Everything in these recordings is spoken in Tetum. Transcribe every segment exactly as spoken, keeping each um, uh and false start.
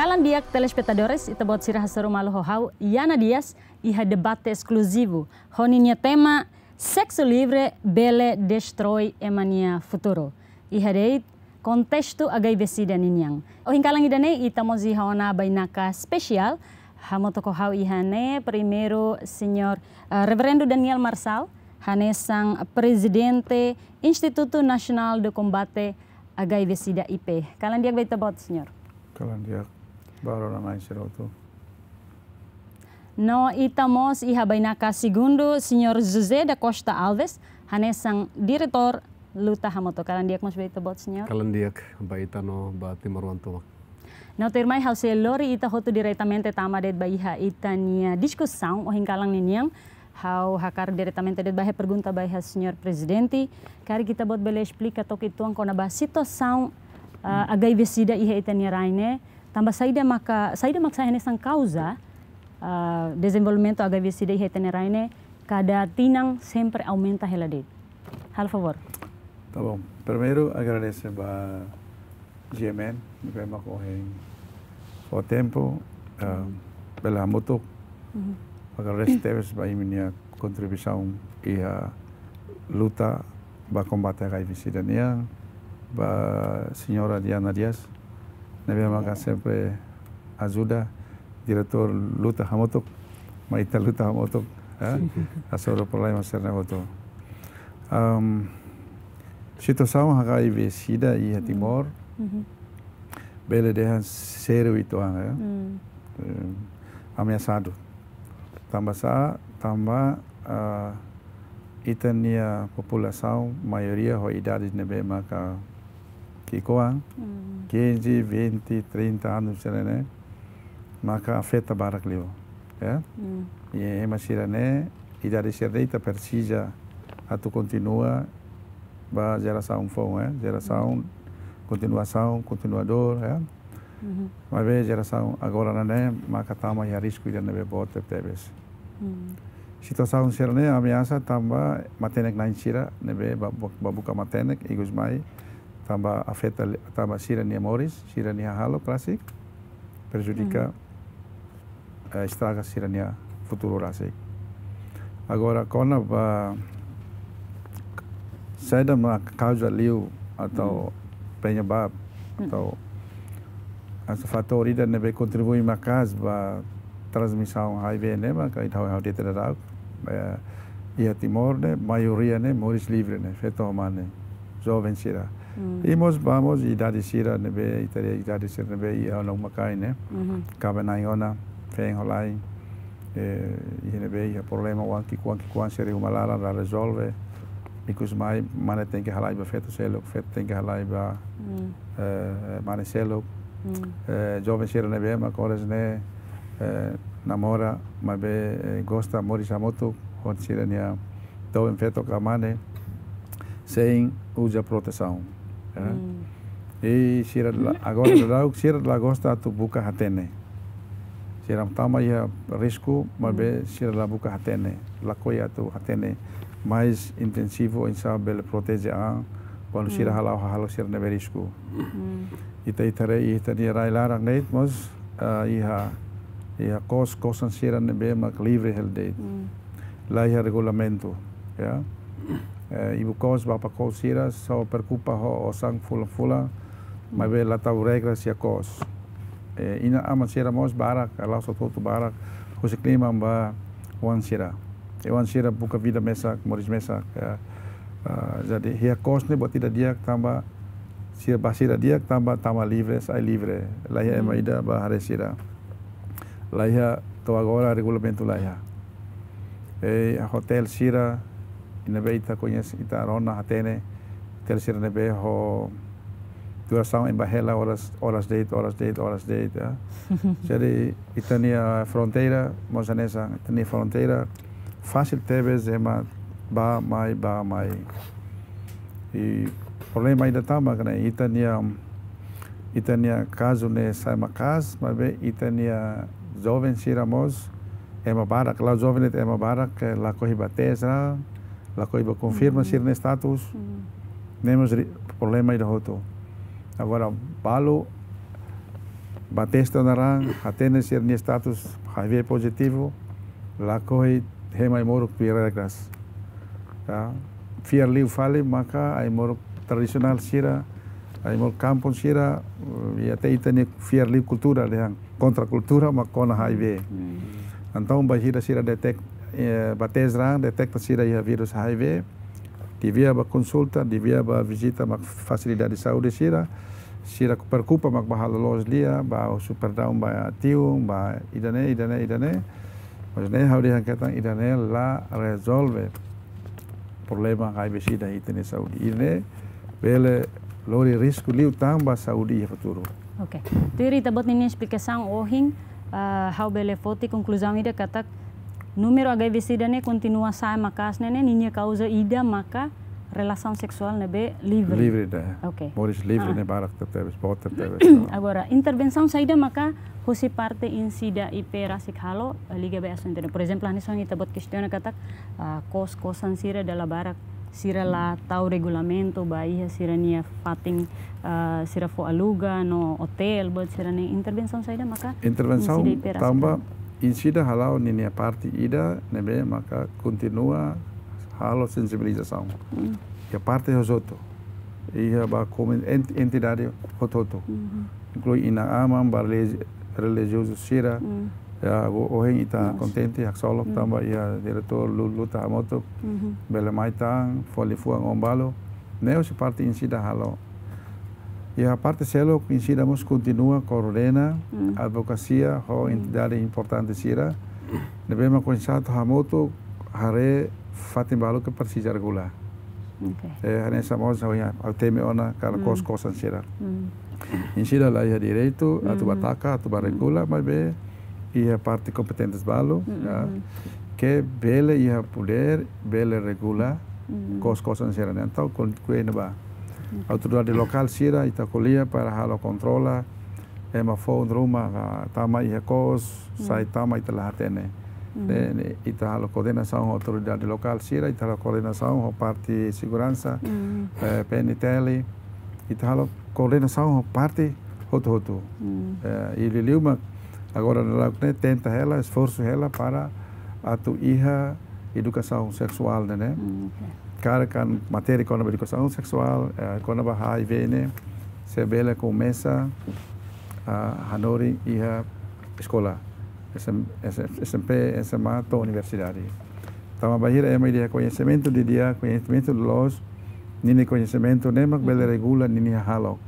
Kalan di'ak telespetadores, ita-boot sira hasoru malu ho ha'u, Yana Dias, iha debate eskluzivu ho ninia tema: Seksu livre bele destroi ema nia futuru. Iha de'it kontestu H I V sida ninian. Ohin kalan ida-ne'e ita mós iha ona bainaka espesiál. Hamutuk ho ha'u iha ne'e, primeiru, señór, eh, Reverendu Daniel Marçal, hanesan Prezidente Instituto Nacional de Combate H I V sida, I P. Kalan di'ak ba ita-boot, señór. Kalan di'ak ba rona-na'in sira hotu. No ita mós iha bainaka segundu, señór José da Costa Alves, hanesan Diretór Luta Hamutuk. Kalan di'ak mós ba ita-boot, señór. Kalan di'ak ba ita no ba timoroan tomak. No tuirmai, ha'u sei lori ita hotu diretamente tama de'it ba iha ita-nia diskusaun ohin kalan ninian. Ha'u hakarak diretamente de'it ba iha pergunta ba iha señór Prezidente. Karik ita-boot bele esplika took uitoan kona-ba situasaun, ah, H I V sida iha ita-nia rain ne'e. Tanba saida maka, saida mak sai hanesan kauza, ah, dezenvolvimentu H I V sida iha ita-nia rain ne'e kada tinan sempre aumenta hela de'it. Halo favór. Tá bom. Primeiru, agradese ba G M N, ne'ebé mak ohin fó tempu, ah, bele hamutuk. Mhm. Agradese tebes ba imi-nia kontribuisaun iha luta ba kombate H I V sida nian, ba señora Diana Dias, ne'ebé maka sempre ajuda Diretór Luta Hamutuk, mai ita luta hamutuk, eh, hasoru problema sira-ne'e hotu. Am, situasaun H I V sida iha Timor, mhm, bele dehan sériu uitoan, eh. Hmm. Eh, ameasadu. Tanba sá, tanba, ah, ita-nia populasaun maioria ho idade ne'ebé maka ki'ikoan, hmm, quinze, vinte, trinta anos sira-ne'e, maka afeta barak liu, ya. Hmm. I ema sira-ne'e, idade sira-ne'e ita presiza atu kontinua ba jerasaun foun, eh, jerasaun, hmm, kontinuasaun, kontinuadór, ya. Mhm. Maibé jerasaun agora ne'e maka tama iha risku ida ne'ebé boot tebes. Hmm. Situasaun sira-ne'e ameasa tanba matenek-na'in sira ne'ebé ba, ba, ba buka matenek, ikus mai tanba afeta li-, tanba sira-nia moris, sira-nia hahalok rasik, prejudika, hmm, eh, estraga sira-nia futuru rasik. Agora, kona-ba saida mak kauza liu atau, hmm, penyebab, hmm, atau, atau fatór ida ne'ebé kontribui maka'as ba transmisaun H I V ne'e, maka ita hau hau de'it dadauk, eh, iha Timor ne'e, maioria ne'e moris livre ne'e, feto ho mane, joven sira. Hmm. I mós ba mós idade sira ne'ebé, ita haree idade sira ne'ebé iha ona uma-kain ne'e. Mhm. Kaben-na'in ona, feen ho la'en, eh, iha ne'ebé iha problema oan ki'ikoan, ki'ikoan sira iha uma laran la rezolve. Ikus mai, mane tenke halai ba feto seluk, feto tenke halai ba, hmm, eh, mane seluk. Hmm. Eh, joven sira ne'ebé mak oras ne'e, eh, namora, maibé, eh, gosta moris hamutuk ho sira-nia doben feto ka mane, sein uza protesaun, ya. Hmm. I sira la, agora daudaun sira la gosta atu buka hatene. Sira tama iha risku, maibé, hmm, sira la buka hatene, lakohi atu hatene mais intensivu, oinsá bele proteje an kuandu sira, hmm, hala'o hahalok sira ne'ebé risku. Hmm. Ita, ita haree iha ita-nia rai laran ne'e mós, ah, iha, iha kos, kosan sira ne'ebé mak livre hela de'it. Hmm. La iha regulamentu, ya. Eh, ibu-kos, bapa-kos sira só preokupa ho osan fulan-fulan, maibé la tau regras iha kos. Eh, inan-aman sira mós barak, la'ós hotu-hotu, barak husik liman ba oan sira. I oan sira buka vida mesak, moris mesak, ya. Ah, jadi, iha kos ne'e buat ida di'ak tanba sira, ba sira di'ak tanba tama livre, sai livre. La iha ema, hmm, ida ba haree sira. La iha, to'o agora regulamentu la iha. Eh, hotel sira, i ne'ebé ita koñese, ita rona, hatene, hotel sira ne'ebé ho durasaun ema bá hela oras, oras de'it, oras de'it, oras de'it, ya. Jadi, ita-nia fronteira, mós hanesan, ita-nia fronteira fasil tebes ema bá mai, bá mai. I problema ida tama katak ita-nia, ita-nia kazu ne'e sai maka'as, maibé ita-nia joven sira mós, ema barak, la'ós joven de'it, ema barak, eh, lakohi bá tes, lakohi bá konfirma, hmm, sira-nia status. Hmm. Ne'e mós ri-, problema ida hotu. Agora, balu ba testa naran, hatene sira-nia status H I V pozitivu, lakohi hemu ai-moruk tuir regras. Ya, fiar liu fali maka ai-moruk tradisionál sira, ai-moruk kampung sira, eh, i até ita-nia fiar liu kultura dehan, kontra kultura mak kona H I V. Hmm. Entaun bainhira sira detek-, eh, ba teste raan, deteta sira iha vírus H I V, devia ba konsulta, devia ba vizita mak fasilidade saúde sira, sira preokupa mak ba halo loos lia, ba husu perdaun ba tiun, ba ida-ne'e, ida-ne'e, ida-ne'e. Mas ne'e ha'u dehan katak ida-ne'e la rezolve problema H I V sida iha ita-nia saúde. Ida-ne'e bele lori risku liután ba saúde iha futuru. Oke. Tuir ita-boot ninia esplikasaun ohin, ah, ha'u bele foti konkluzaun ida katak númeru H I V sida ne'e kontinua sa'e maka'as ne'e, ninia kauza ida maka relasaun seksuál ne'ebé livre. Livre ida. Oke. Moris livre, ah, ne'e barak tebetebes, boot tebetebes. Agora, intervensaun saida maka husi parte INCIDA I P rasik halo, eh, liga ba asuntu ne'e. Por ezemplu, hanesan ita-boot kestiona katak, ah, kos-kosan sira dala barak sira la tau regulamentu ba iha sira-nia fatin, ah, sira fó aluga no otél, buat sira-ne'e. Intervensaun saida maka INCIDA I P rasik halo? Intervensaun tanba INCIDA hala'o ninia parte ida ne'ebé maka kontinua halo sensibilizasaun. Hmm. Iha parte hotu-hotu. Iha ba komun-, ent-, entidade hotu-hotu. Mhm. Inklui inan-aman, ba religi-, relijiozu sira. Hmm. Ya, o-, ohin ita, yes, kontente, haksolok, hmm, tanba iha diretór Lu-, Luta Hamutuk, mhm, bele mai tan, fó liafuan oan balu. Ne'e husi parte INCIDA halo. Iha parte seluk INCIDA mós kontinua koordena, hmm, advokasia ho, hmm, entidade importante sira. Ne'ebé mak konsensu hamutuk haree fatin balu ke presiza regula. Oke. Eh, hanesan mós ha'u iha, ha'u temi ona katak, hmm, kos-kosan sira. Hmm. INCIDA la iha direitu atu, hmm, ba taka, atu ba, hmm, regula, maibé iha parte kompetentes balu, hmm, ya, hmm, ke bele iha podér, bele regula, hmm, kos-kosan sira-ne'e. Entaun, kon-, ko'alia ba, hmm, autoridade lokál sira, ita ko'alia para halo kontrola, ema foun ruma, ah, tama iha kos, hmm, sai tama ita la hatene. Hmm. Ne'e, ne'e, ita halo koordenasaun ho autoridade lokál sira, ita halo koordenasaun ho parte seguransa, hmm, eh, P N T L, ita halo koordenasaun ho parte hotu-hotu. Hmm. Eh, i liuliu mak agora daudaun ne'e tenta hela, esforsu hela para atu iha edukasaun seksuál ne'e, ne'e. Hmm, oke. Karik matéria kona-ba edukasaun seksuál, eh, kona-ba H I V ne'e, se bele komesa, ah, hanorin iha eskola, S M, S M, S M P, S M A, to'o universidade. Tanba bainhira ema ida iha koñesimentu didi'ak, koñesimentu loloos, ninia koñesimentu ne'e mak bele, mhm, regula ninia hahalok.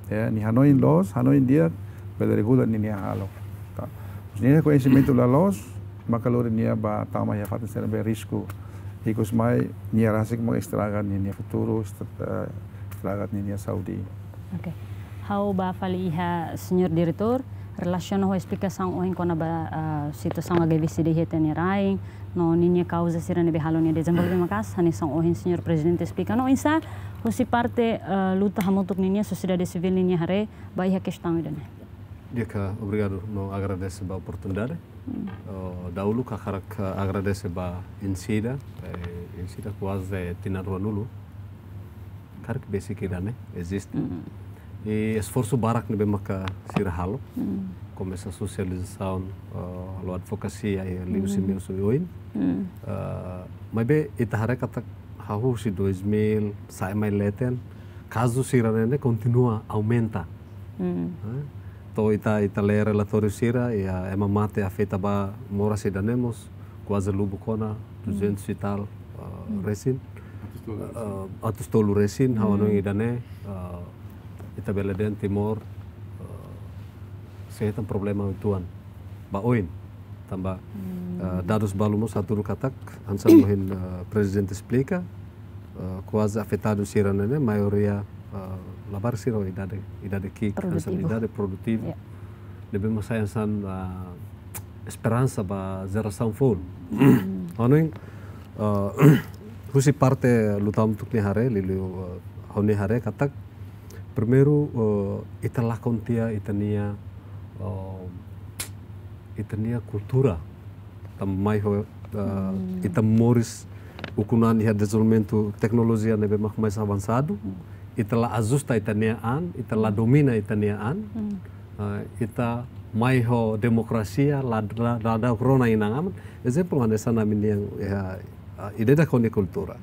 Ya, nia hanoin loos, hanoin di'ak, bele regula ninia hahalok. Tá. Nia koñesimentu la loos, maka lori nia ba tama iha fatin sira ne'ebé risku. Ikus mai nia rasik mak estraga ninia futuru, est-, eh, estraga ninia saúde. Oke. Ha'u bá fali iha señór diretór, relasiona ho esplikasaun ohin kona-ba, ah, situasaun H I V sida iha ita-nia rain, no ninia kauza sira ne'ebé halo nia dezenvolve maka'as, hanesan ohin señór prezidente esplika. No oinsá husi parte, ah, Luta Hamutuk ninia, sosiedade sivíl ninia haree ba iha kestaun ida-ne'e? Di'ak, obrigadu no agradese ba oportunidade. Hmm. Oh, dahuluk ha'u hakarak agradese ba INCIDA, eh, INCIDA kuaze tinan ruanulu karik besik ida-ne'e eziste. Mm. I esforsu barak ne'ebé maka sira halo. Mm. Komesa sosializasaun, eh, halo advokasia, eh, liuhusi, mm, meius oioin. Mm. Eh, maibé ita haree katak hahú husi dois mil, sa'e mai leten, kazu sira-ne'e kontinua aumenta. Mm. Eh, to'o ita, ita lee relatóriu sira, iha ema mate afeta ba moras ida-ne'e mós, kuaze lubuk ona, mm, duzentos e tal, eh, mm, resin. Atus tolu resin. Eh, atus tolu resin, ha'u, mm, hanoin ida-ne'e, eh, ita bele dehan Timor, eh, sei hetan problema uitoan ba oin. Tanba, mm, eh, dadus balu mós hatudu katak, hanesan ohin, eh, prezidente esplika, eh, kuaze afetadu sira-ne'e, maioria, eh, labarik sira idade, idade ki'ik, hanesan, produtivu, idade produtivu. Ya. Ne'ebé mak sai hanesan, eh, esperansa ba jerasaun foun. Mm. Hanoin, eh, husi parte Luta Hamutuk nia haree, liuliu, eh, ha'u-nia haree katak, primeiru, eh, ita lakon tiha ita-nia, eh, ita-nia kultura. Tanba mai ho, eh, hmm, ita moris ukun an iha dezenvolvimentu teknolojia ne'ebé mak mais avansadu. Hmm. Ita la ajusta ita-nia an, ita la, hmm, domina ita-nia an. Hmm. eh, ita mai ho demokrasia, la, la, la dau rona inan-aman. Ezemplu, hanesan ami-nian iha, ah, ida-idak ho nia kultura.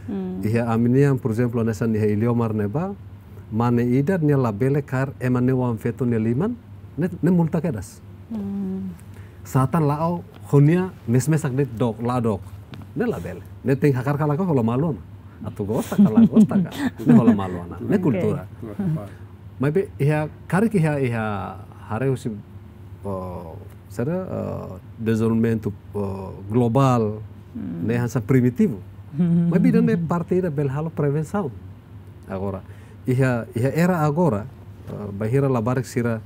Hmm. Iha ami-nian, por ezemplu, hanesan iha Iliomar ne'ebá, mane ida nia labele kaer ema ne'e oan-feto nia liman, ne'e, ne'e multa kedas. Hmm. Sá tan la'o ho nia mes-mesak de'it dook, la dook. Ne'e labele. Ne'e tenke hakarak ka lakohi hola malu ona. Atu gosta ka la gosta ka. Ne'e hola malu ona. Ne'e Oke. kultura. Maibé iha, karik iha, iha haree husi, eh, saida, eh, dezenvolvimentu, eh, globál, Hmm. ne'e hanesan primitivu. Maibé ida-ne'e parte ida bele halo prevensaun. Agora, iha, iha era agora, eh, bainhira labarik sira,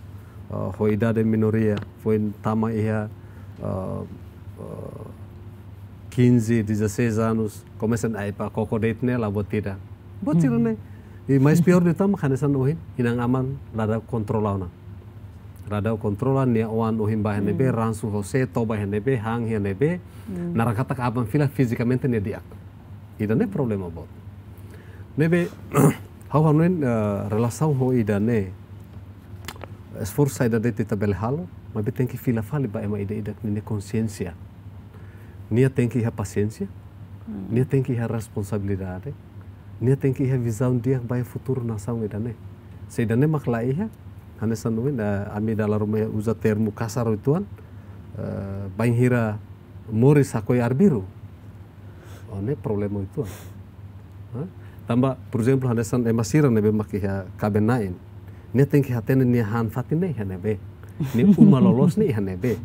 eh, ho idade minoria, foin tama iha, eh, eh, quinze, dezasseis anos, komesa ai ba koko de'it ne'e la buat ida. Buat sira-ne'e. I mais piór de'it mak hanesan ohin, inan-aman la dau kontrola ona. La dau kontrola nia oan ohin ba iha ne'ebé, Hmm. ransu ho sé, toba iha ne'ebé, han iha ne'ebé, Hmm. naran katak aban fila fizikamente nia di'ak. Ida-ne'e problema boot. Ne'ebé, ha'u hanoin, eh, relasaun ho ida-ne'e, esforsu saida de'it ita bele halo, maibé tenke fila fali ba ema ida-idak ninia konsiénsia. Nia tenke iha pasiénsia, Hmm. nia tenke iha responsabilidade, nia tenke iha vizaun di'ak ba iha futuru nasaun ida-ne'e. Se ida-ne'e mak la iha, hanesan ohin, eh, ami dala ruma uza termu kasar uitoan, eh, bainhira moris hakoi arbiru. Oh, ne'e problema uitoan. Hah? Tanba, por ezemplu, hanesan ema sira ne'ebé mak iha kaben-na'in. Nia tenke hatene nia han-fatin ne'e iha ne'ebé. Nia uma loloos ne'e iha ne'ebé.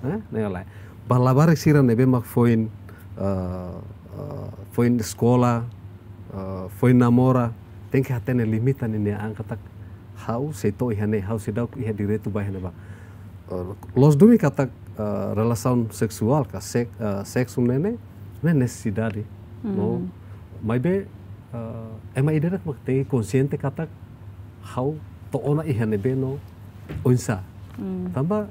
Hah? Ne'e lae. Ba labarik sira ne'ebé mak foin, eh, eh, foin eskola, eh, foin namora, tenke hatene limite ninia an katak ha'u sei to'o iha ne'e, ha'u seidauk iha direitu ba iha ne'ebá. Eh, loos duni katak, eh, relasaun seksuál ka sek-, eh, seksu ne'e ne'e, ne'e nesesidade. Hmm. No, maibé, eh, ema ida-idak mak tenke konsiente katak ha'u to'o ona iha ne'ebé no oinsá. Hmm. Tanba,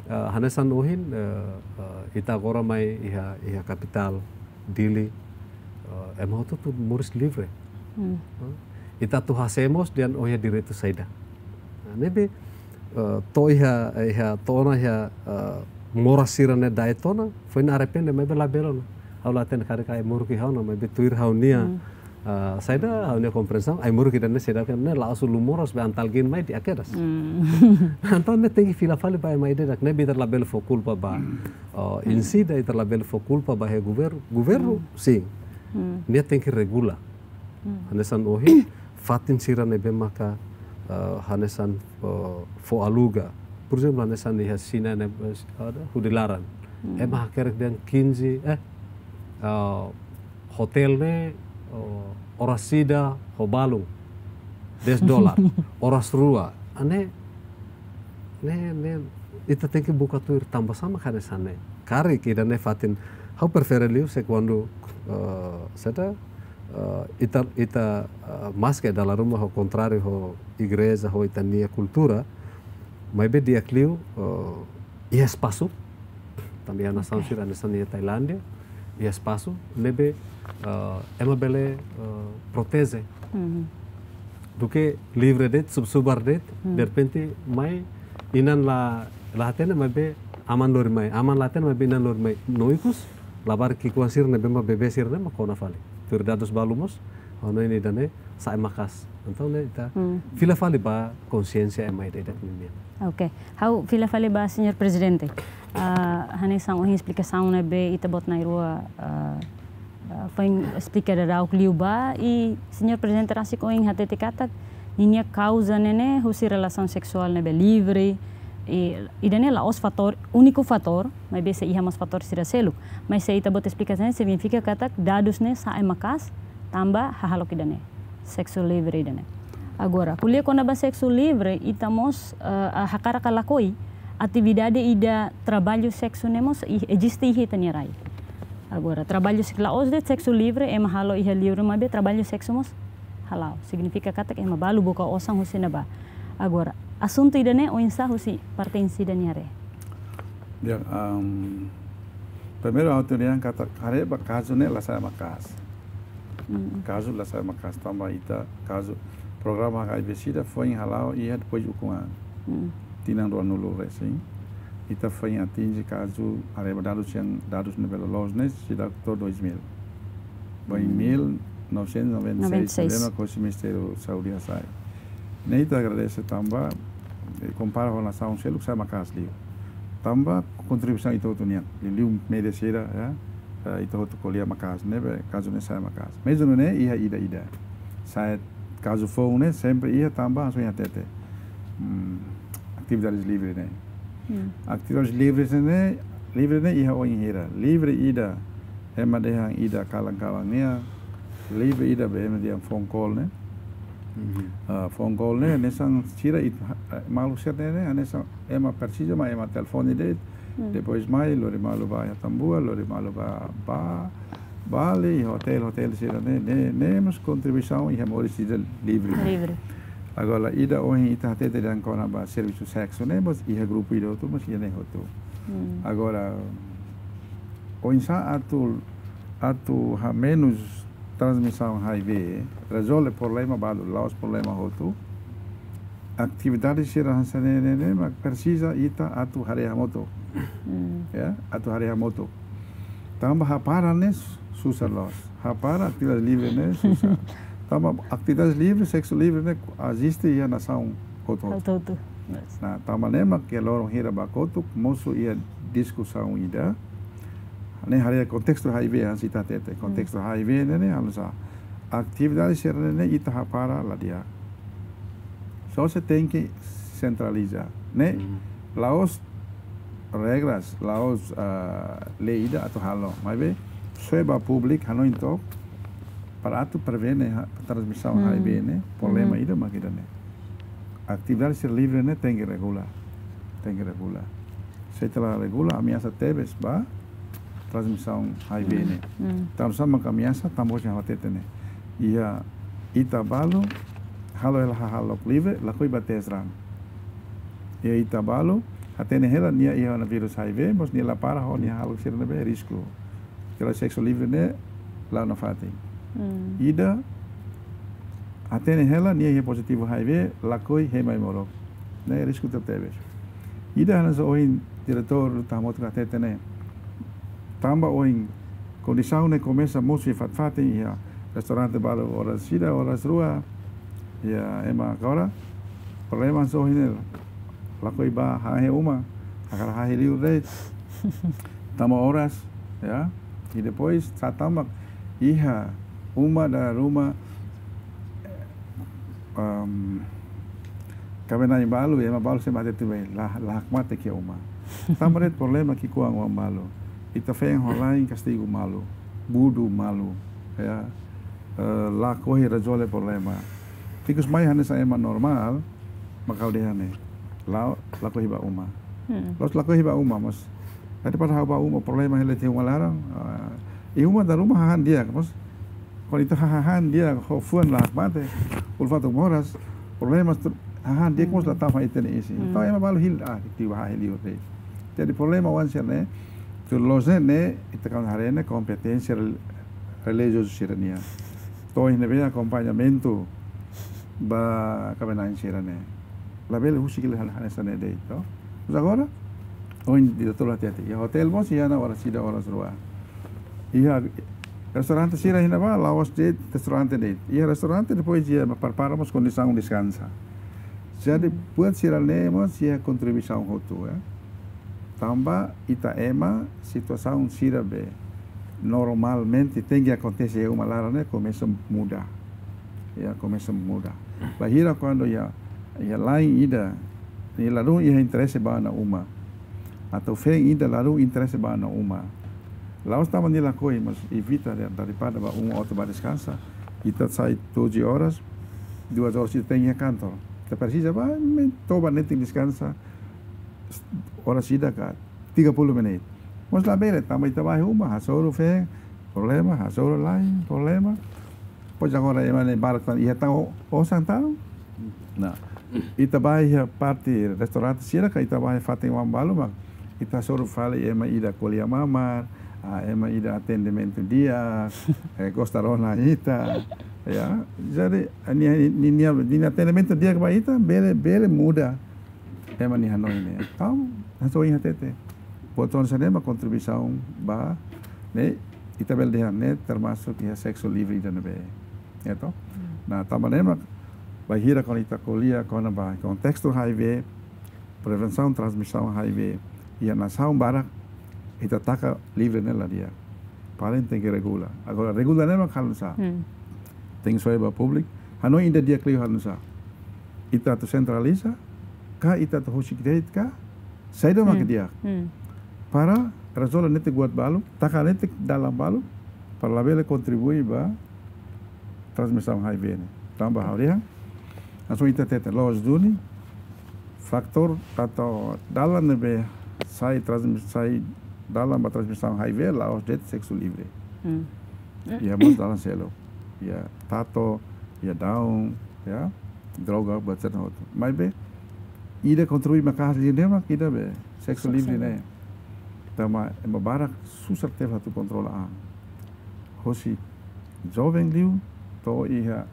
eh, hanesan ohin, eh, eh, ita agora mai iha, iha kapitál, Dili, eh, ema hotu-hotu moris livre. Hmm. Eh, ita atu hase'e mós dehan ó iha direitu saida. Nah, ne'ebé, eh, to'o iha, iha, to'o ona iha, eh, moras sira-ne'e da'et ona, foin arrepende, maibé labele ona. Ha'u la hatene karik ai-moruk iha ona, maibé tuir ha'u-nia, Hmm. eh, saida, ha'u-nia komprensaun, ai-moruk ida-ne'e seidauk iha ne'e, la'ós ulun moras, be antal gin mai di'ak kedas. Hmm. Entaun ne'e tenke fila fali ba ema ida-idak, ne'ebé ita labele fó kulpa ba, eh, Hmm. insi ida, ita labele fó kulpa ba iha governu, governu, Hmm. sin. Hmm. Nia tenke regula. Hmm. Hanesan ohin, fatin sira ne'ebé maka, eh, hanesan, eh, fó aluga. Por ezemplu, hanesan iha Xina ne'e, eh, ada, hudi laran. Hmm. Ema hakerek dehan quinze, eh, eh, hotel ne'e, eh, oras ida ho balun, dez dolar. Oras rua. Ne'e, ne'e, ne'e, ita tenke buka tuir tanba sá mak hanesan ne'e. Karik ida-ne'e fatin, ha'u prefere liu se kuandu, eh, saida, eh, ita, ita, eh, maske dala ruma ho kontráriu ho igreja, ho ita-nia kultura, maibé di'ak liu, eh, iha espasu, tanba iha nasaun Oke. sira hanesan iha Tailándia, iha espasu ne'ebé, eh, ema bele, eh, proteje. Mhm. Duké livre de'it, sub-subar de'it, Hmm. derrepente mai inan la, la hatene maibé aman lori mai, aman la hatene maibé inan lori mai. No ikus, labarik ki'ikoan sira ne'ebé mak bebé sira-ne'e mak kona fali. Tuir dadus balu mós, ha'u hanoin ida-ne'e sa'e maka'as. Entaun ne'e ita Hmm. fila fali ba konsiénsia ema ida-idak ninian. Oke, ha'u fila fali ba Señór Prezidente. Ah, hanesan ohin esplikasaun ne'ebé ita-boot na'in-rua, ah, ah, foin esplika daudauk liu ba, i Señór Prezidente rasik ohin hatete katak ninia kauza ne'e ne'e husi relasaun seksuál ne'ebé livre, i, ida-ne'e la'ós fatór, úniku fatór, maibé sei iha mós fatór sira seluk. Mas se ita-boot esplika hanesan ne'e signifika katak dadus ne'e sa'e maka'as tanba hahalok ida-ne'e, seksu livre ida-ne'e. Agora, ko'alia kona-ba seksu livre, ita mós, eh, hakarak ka lakohi, atividade ida traballu seksu ne'e mós i-, eziste iha ita-nia rai. Agora, traballu sek-, la'ós de'it seksu livre, ema halo iha liur maibé traballu seksu mós hala'o. Signifika katak ema balu buka osan husi ne'ebá. Agora, asuntu ida-ne'e oinsá husi parte INCIDA nia haree? Ya, am, primeiru ha'u atu dehan katak haree ba kazu ne'e la sa'e maka'as. Mm. Kazu la sa'e maka'as tanba ita kazu programa H I V SIDA foin hala'o iha depois ukun-an. Mm. tinan ruanulu resin, ita foin atinje kazu, haree ba dadus yang, dadus ne'ebé loloos ne'e, seidauk to'o dois mil. Ba em mil novecentos e noventa e seis, noventa e seis, problema ho Ministériu Saúde hasai. Ne'e ita agradese tanba, eh, kompara ho nasaun seluk sai maka'as liu. Tanba kontribuisaun ita hotu nian, liuliu média sira, ya, eh, ita hotu ko'alia maka'as, ne'ebé kazu ne'e sai maka'as. Mezmu ne'e iha ida-ida. Sai kazu foun ne'e sempre iha tanba hanesan ohin hatete. Hmm, atividades livre ne'e. Hmm. Atividades livre ne'e, livre ne'e iha oin hira. Livre ida, ema dehan ida kalan-kalan nian. Livre ida be ema dehan phone call ne'e. Mhm. Ah, phone call ne'e, hanesan sira it-, ah, maluk sira ne'e, hanesan ema presiza mak ema telefone de'it. Hmm. Depois mai, lori malu ba iha Tambua, lori malu ba, ba, Bali, hotel, hotel sira ne'e, ne'e, ne'e mós kontribuisaun iha moris ida livre. Livre. Agora, ida ohin ita hatete dehan kona-ba servisu seksu ne'e, mós iha grupu ida hotu, mós iha ne'e hotu. Hmm. Agora, oinsá atu, atu hamenus transmisaun H I V, rezolve problema balu, la'ós problema hotu. Atividade sira hanesan ne'e, ne'e, ne'e, mak presiza ita atu haree hamutuk. Hmm. Ya, atu haree hamutuk. Tanba hapara ne'e susar loos. Hapara atividade livre ne'e susar. Tanba atividade livre, seksu livre ne'e eziste iha nasaun hotu-hotu. Hotu-hotu. Yes. Nah, tanba ne'e mak iha loron hira ba kotuk, mosu iha diskusaun ida. Ne'e haree kontestu H I V hanesan ita hatete. Kontestu H I V ne'e, ne'e hanesan atividade sira ne'e, ne'e ita hapara la di'ak. Só se tenke sentraliza. Ne'e, la'ós regras, la'ós, ah, lei ida atu halo. Maibé, soe ba públiku, hanoin took, para atu prevene ha-, transmisaun H I V ne'e, problema ida mak ida ne'e. Atividade sira livre ne'e tenke regula. Tenke regula. Se ita la regula, ameasa tebes ba transmisaun H I V ne'e. Hmm. Tanba sá mak ameasa, tanba ohin ha'u hatete ne'e. Iha ita balu, halo hela hahalok livre, lakohi ba tes raan. Iha ita balu, hatene hela nia iha ona vírus H I V, mós nia la para ho nia hahalok sira ne'ebé risku. Kela seksu livre ne'e la'o nafatin. Hmm. Ida, hatene hela nia iha pozitivu H I V, lakohi hemu ai-moruk. Ne'e risku tebetebes. Ida hanesan ohin diretór Luta Hamutuk hatete ne'e. Tanba ohin kondisaun ne'e komesa mosu iha fatin-fatin, iha restaurante balu oras ida, oras rua, iha ema agora, problema hanesan ohin ne'e, lakohi ba hahe uma, hakarak hahe liur de'it, tama oras, ya. I depois, sá tanba iha uma dala ruma, em, kaben-na'in balu, ema balu sei mate tuir mai, la, la hakmatek iha uma. Tanba de'it problema ki'ikoan oan balu. Ita feen ho la'en kastigu malu, budu malu, ya. Eh, lakohi rezolve problema. Ikus mai hanesan ema normál, mak ha'u dehan ne'e. La, lakohi ba uma. Hmm. La'ós lakohi ba uma, mas. Daripada ha'u ba uma problema hela tiha uma laran, ah, iha uma dala ruma hahán di'ak, mas. Kuandu ita hahán di'ak, ho fuan la hakmatek, uluk fatuk moras, problema stru-, hahán di'ak mós la tama iha ita-nia isin. Hmm. Entaun ema balu hili, ah, ita ba hahe liur de'it. Jadi problema oan sira-ne'e, tuir loos ne'e, ne'e, ita kan haree ne'e kompeténsia rel-, relijiozu sira-nian. To'o iha ne'ebé akompañamentu ba kaben-na'in sira-ne'e. Labele husik hela hal hanesan ne'e de'it, to. Mas agora, ohin diretór hatete, iha hotel mós iha ona oras ida, oras rua. Iha restaurante sira iha ne'ebá, la'ós de'it restaurante de'it. Iha restaurante depois iha ema prepara mós kondisaun deskansa. Jadi, hmm, buat sira-ne'e mós iha kontribuisaun hotu, ya. Tanba ita ema, situasaun sira be normalmente tenke akontese iha uma laran ne'e komesa muda. Ya, komesa muda. Bainhira kuandu iha, iha la'en ida, nia ladún iha interese ba ona uma. Atu feen ida ladún interese ba ona uma. La'ós tanba nia lakohi, mas evita dari-, daripada ba uma hotu ba deskansa. Ita sai doze horas, duas horas ita tenke iha kantor. Ita presiza ba, me toba netik deskansa, oras ida ka tiga puluh menit. Mas labele, tanba ita ba iha uma, hasoru feen, problema, hasoru la'en, problema. Pois agora ema ne'e barak tan, iha tan o-, osan tan. Nah, ita ba iha parte restaurante sira ka ita ba iha fatin oan balu mak ita hasoru fali ema ida ko'alia mamar, ah, ema ida atendimentu di'ak, eh, gosta rona ita, ya. Jadi, nia, nia, nia, nia atendimentu di'ak ba ita, bele, bele muda. ema nia hanoin ne'e. Entaun, hanoin hatete. Buat hanesan ne'e mak kontribuisaun ba, ne'e, ita bele dehan ne'e termasuk iha seksu livre ida ne'ebé. Ya toh? Nah, tanba ne'e mak, bainhira kuandu ita ko'alia kona-ba kontestu H I V, prevensaun transmisaun H I V, iha nasaun barak, ita taka livre ne'e la di'ak. Paling tenke regula. Agora, regula ne'e mak halo nu'usá. Hmm. Tenke soe ba públiku. Hanoin ida di'ak liu halo nu'usá. Ita atu sentraliza, ka ita atu husik de'it ka, saida mak Hmm. di'ak. Hmm. Para rezolve netik buat balu, taka netik dalan balu, para labele kontribui ba transmisaun H I V ne'e. Tanba ha'u dehan, hanesan ita hatete loos duni, faktór atau dalan ne'ebé sai transmis-, sai dalan ba transmisaun H I V la'ós de'it seksu livre. Hmm. Iha mós dalan seluk. Iha tatu, iha daun, ya, droga, buat sira hotu. Maibé, ida kontribui maka'as liu ne'e mak ida be, seksu Seksu livre livre. ne'e. Tanba ema barak susar tebes atu kontrola an. Hosi joven liu, to'o iha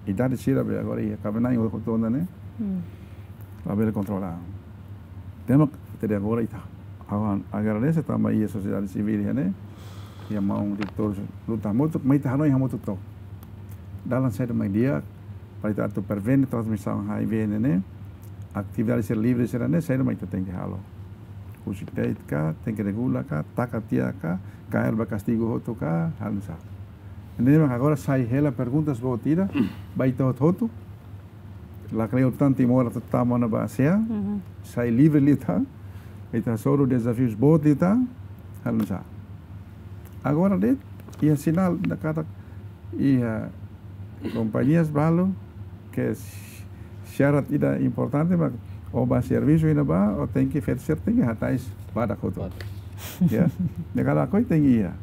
idade sira be agora iha kaben-na'in hotu ona ne'e. Hmm. Labele kontrola an. Ne'e mak até agora ita. Ha'u agradese tanba iha sosiedade sivíl iha ne'e. Iha maun diretór luta hamutuk, mai ita hanoin hamutuk took. Dalan saida mak di'ak, para ita atu prevene transmisaun H I V ne'e ne'e. Atividade sira livre sira ne'e, saida mak ita tenke halo. Husik de'it ka, tenke regula ka, taka tiha ka, kaer ba kastigu hotu ka, halo nu'usá. Ne'e mak agora sai hela perguntas boot ida, ba ita hotu-hotu. Lakleur tan Timor atu tama ona ba ASEAN, Mhm. sai livre liután, ita hasoru dezafius boot liután, halo nu'usá. Agora de'it, iha sinál, ita katak, iha kompañias balu, ke s-, syarat ida importante, mak ó ba servisu iha ne'ebá, ó tenke feto sira tenke hatais badak hotu. Badak. Ya, ne'e kala koi tenke iha.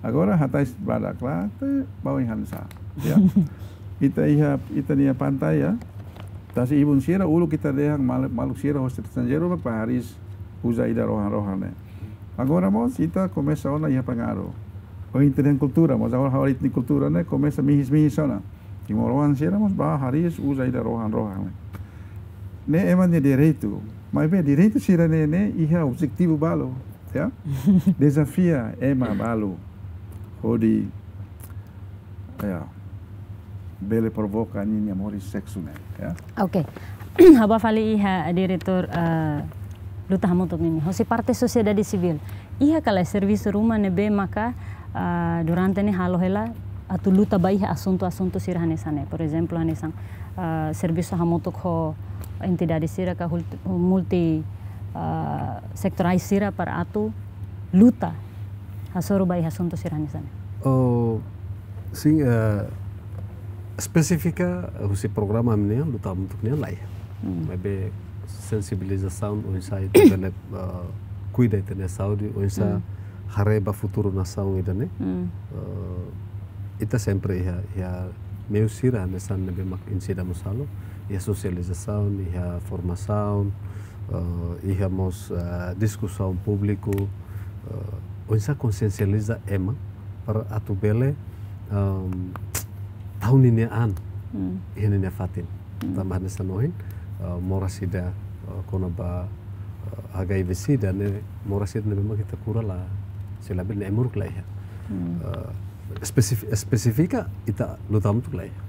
Agora hatais badak la, te bau iha nu'usá. Ya. Ita iha, ita-nia pantai ya. Tasi ibun sira, uluk ita dehan mal-, maluk sira hosi estranjeiru, mak ba hariis uza ida rohan-rohan ne'e. Agora mós, ita komesa ona iha pengaruh. Ó ita dehan kultura, mas agora ha'u ita-nia kultura ne'e, komesa mihis-mihis ona. Timoroan sira mós ba hariis uza ida rohan-rohan ne'e. Ne'e ema nia direitu. Maibé direitu sira-ne'e ne'e iha objetivu balu, ya. Dezafia ema balu. Hodi, ya, bele provoka ninia moris seksu ne'e, ya. Oke. Ha'u bá fali iha diretór, eh, luta hamutuk nian. Hosi parte sosiedade sivíl. Iha ka lae servisu ruma ne'ebé maka, ah, durante ne'e halo hela atu luta ba iha asuntu-asuntu sira hanesan ne'e. Por ezemplu, hanesan, ah, servisu hamutuk ho entidade sira ka hult-, multi, ah, setoriál sira para atu luta hasoru ba iha asuntu sira hanesan ne'e. Oh, sin, eh, espesífika, eh, husi programa ami-nian, luta hamutuk nian laiha. Hmm. Maibé sensibilizasaun oinsá ita bele, eh, kuida ita-nia saúde, oinsá Hmm. haree ba futuru nasaun ida-ne'e. Hmm. Eh, ita sempre iha, iha meiu sira hanesan ne'ebé mak Insida mós halo, iha sosializasaun, iha formasaun, eh, iha mós, eh, diskusaun públiku, eh, oinsá konsiensializa ema para atu bele, ehm, tau ninia an, Hmm. iha ninia fatin. Hmm. Tanba hanesan ohin, eh, moras ida, eh, kona-ba, eh, H I V sida ne'e, moras ida ne'ebé mak ita kura la, sei labele ne'e emuruk la iha. Hmm. Eh, espesif-, espesífika ita luta hamutuk la iha.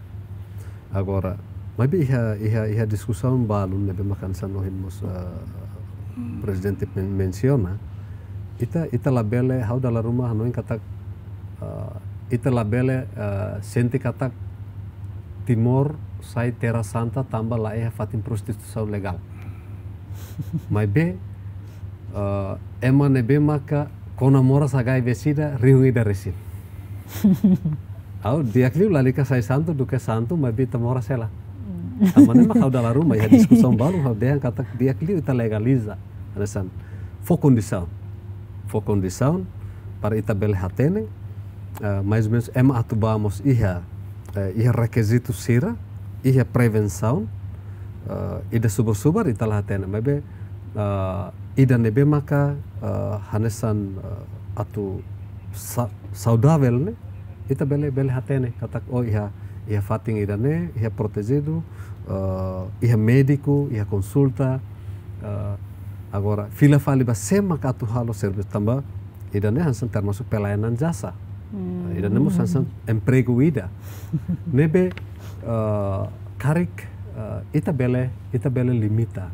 Agora, maibé iha, iha, iha diskusaun balu ne'ebé mak hanesan ohin mós, eh, Hmm. Prezidente men-, mensiona, ita, ita labele, ha'u dala ruma hanoin katak, eh, ita labele, eh, sente katak Timor sai terra santa tanba laiha fatin prostituisaun legál. Maibé, eh, ema ne'ebé maka kona moras H I V sida rihun ida resin. Ha'u di'ak liu lalika sai santu duké santu, maibé ita moras hela. Hmm. Tanba ne'e mak ha'u dala ruma iha diskusaun balu ha'u dehan katak di'ak liu ita legaliza. Hanesan, fó kondisaun. Fó kondisaun para ita bele hatene, eh, mais ou menus ema atu bá mós iha, eh, iha rekizitu sira, iha prevensaun, eh, ida subar-subar ita la hatene. Maibé, eh, ida ne'ebé maka, eh, hanesan, eh, atu sa-, saudavel ne'e, ita bele, bele hatene katak, oh, iha, iha fatin ida-ne'e, iha protejidu, eh, iha médiku, iha konsulta, Eh, agora, fila fali ba sé mak atu halo servisu tanba ida-ne'e hanesan termasuk pelayanan jasa. Hmm. Ida-ne'e mós hanesan empregu ida. Ne'ebé, eh, karik, eh, ita bele, ita bele limita.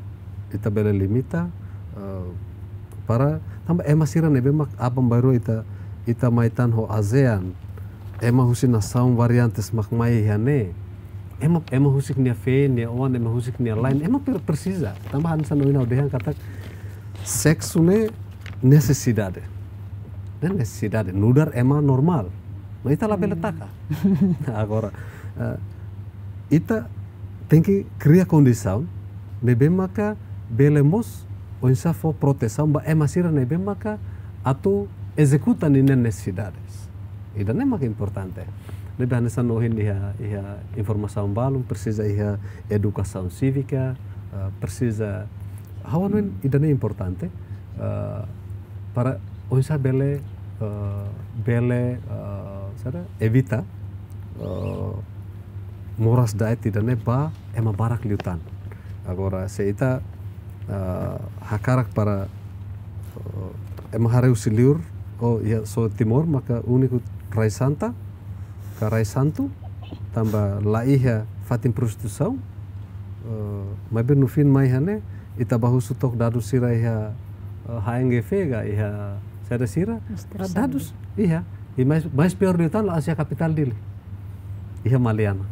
Ita bele limita, eh, para tanba ema sira ne'ebé mak aban-bainrua ita, ita mai tan ho ASEAN. Ema husi nasaun variantes mak mai iha ne'e. Ema, ema husik nia feen, nia oan, ema husik nia la'en, ema per-, presiza. Tanba hanesan ohin ha'u dehan katak seksu ne'e nesesidade. Ne'e nesesidade, nu'udar ema normál. No ita labele taka. Agora, eh, ita tenke kria kondisaun ne'ebé maka bele mós oinsá fó protesaun ba ema sira ne'ebé maka atu ezekuta ninia nesesidades. Ida-ne'e mak importante. Ne'ebé hanesan ohin iha, iha informasaun balun, presiza iha edukasaun sívika, eh, presiza, ha'u hanoin ida-ne'e importante, eh, para oinsá bele, eh, bele, eh, saida, evita, eh, moras-da'et ida-ne'e ba ema barak liután. Agora, se ita, eh, hakarak para, eh, ema haree husi liur, oh, iha, só Timor maka úniku rai santa, ka rai santu, tanba la iha fatin prostituisaun, eh, maibé no fim mai iha ne'e, ita bá husu took dadus sira iha, eh, H N G V ka iha saida sira, Mister eh, Sandi. Dadus, iha. I mais, mais piór liután la'ós iha kapitál Dili. Iha Maliana.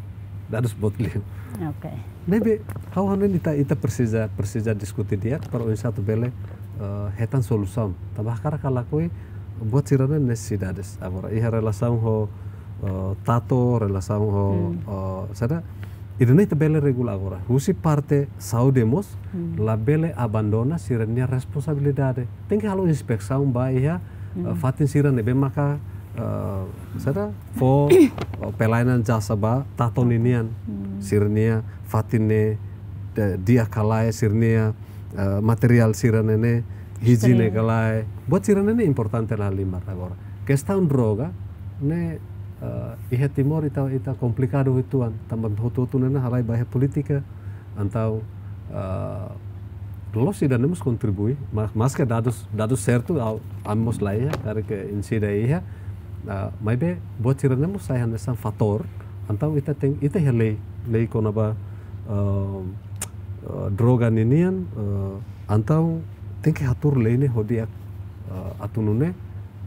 Dadus boot liu. Oke. Ne'ebé, ha'u hanoin ita, ita presiza, presiza diskuti di'ak para oinsá atu bele, eh, hetan solusaun. Tanba hakarak ka lakohi buat sira-ne'e nesesidades. Agora, iha relasaun ho, eh, tatu, relasaun ho, hmm, eh, saida, ida-ne'e ita bele regula agora. Husi parte saúde mós, hmm, labele abandona sira-nia responsabilidade. Tenke halo inspesaun ba iha, hmm, eh, fatin sira ne'ebé maka, eh, saida, fó, eh, pelayanan jasa ba tatu ninian. Hmm. Sira-nia fatin ne'e, de-, di'ak ka lae, sira-nia, eh, materiál sira-ne'e ne'e, hijiene, steril, ka lae. Buat sira-ne'e ne'e importante la halimar agora. Kestaun droga ne'e, eh, iha Timor ita, ita komplikadu uitoan, tanba hotu-hotu ne'e ne'e halai ba iha polítika, entaun, eh, loloos ida-ne'e mós kontribui, ma-, maske dadus, dadus sertu, ha'u, ami mós la iha, karik ita seidauk iha, eh, maibé buat sira-ne'e mós sai hanesan fatór, entaun ita tenke, ita iha lei, lei kona-ba, eh, eh, droga ninian, eh, entaun tenke hatuur lei ne'e ho di'ak, eh, atu nune'e,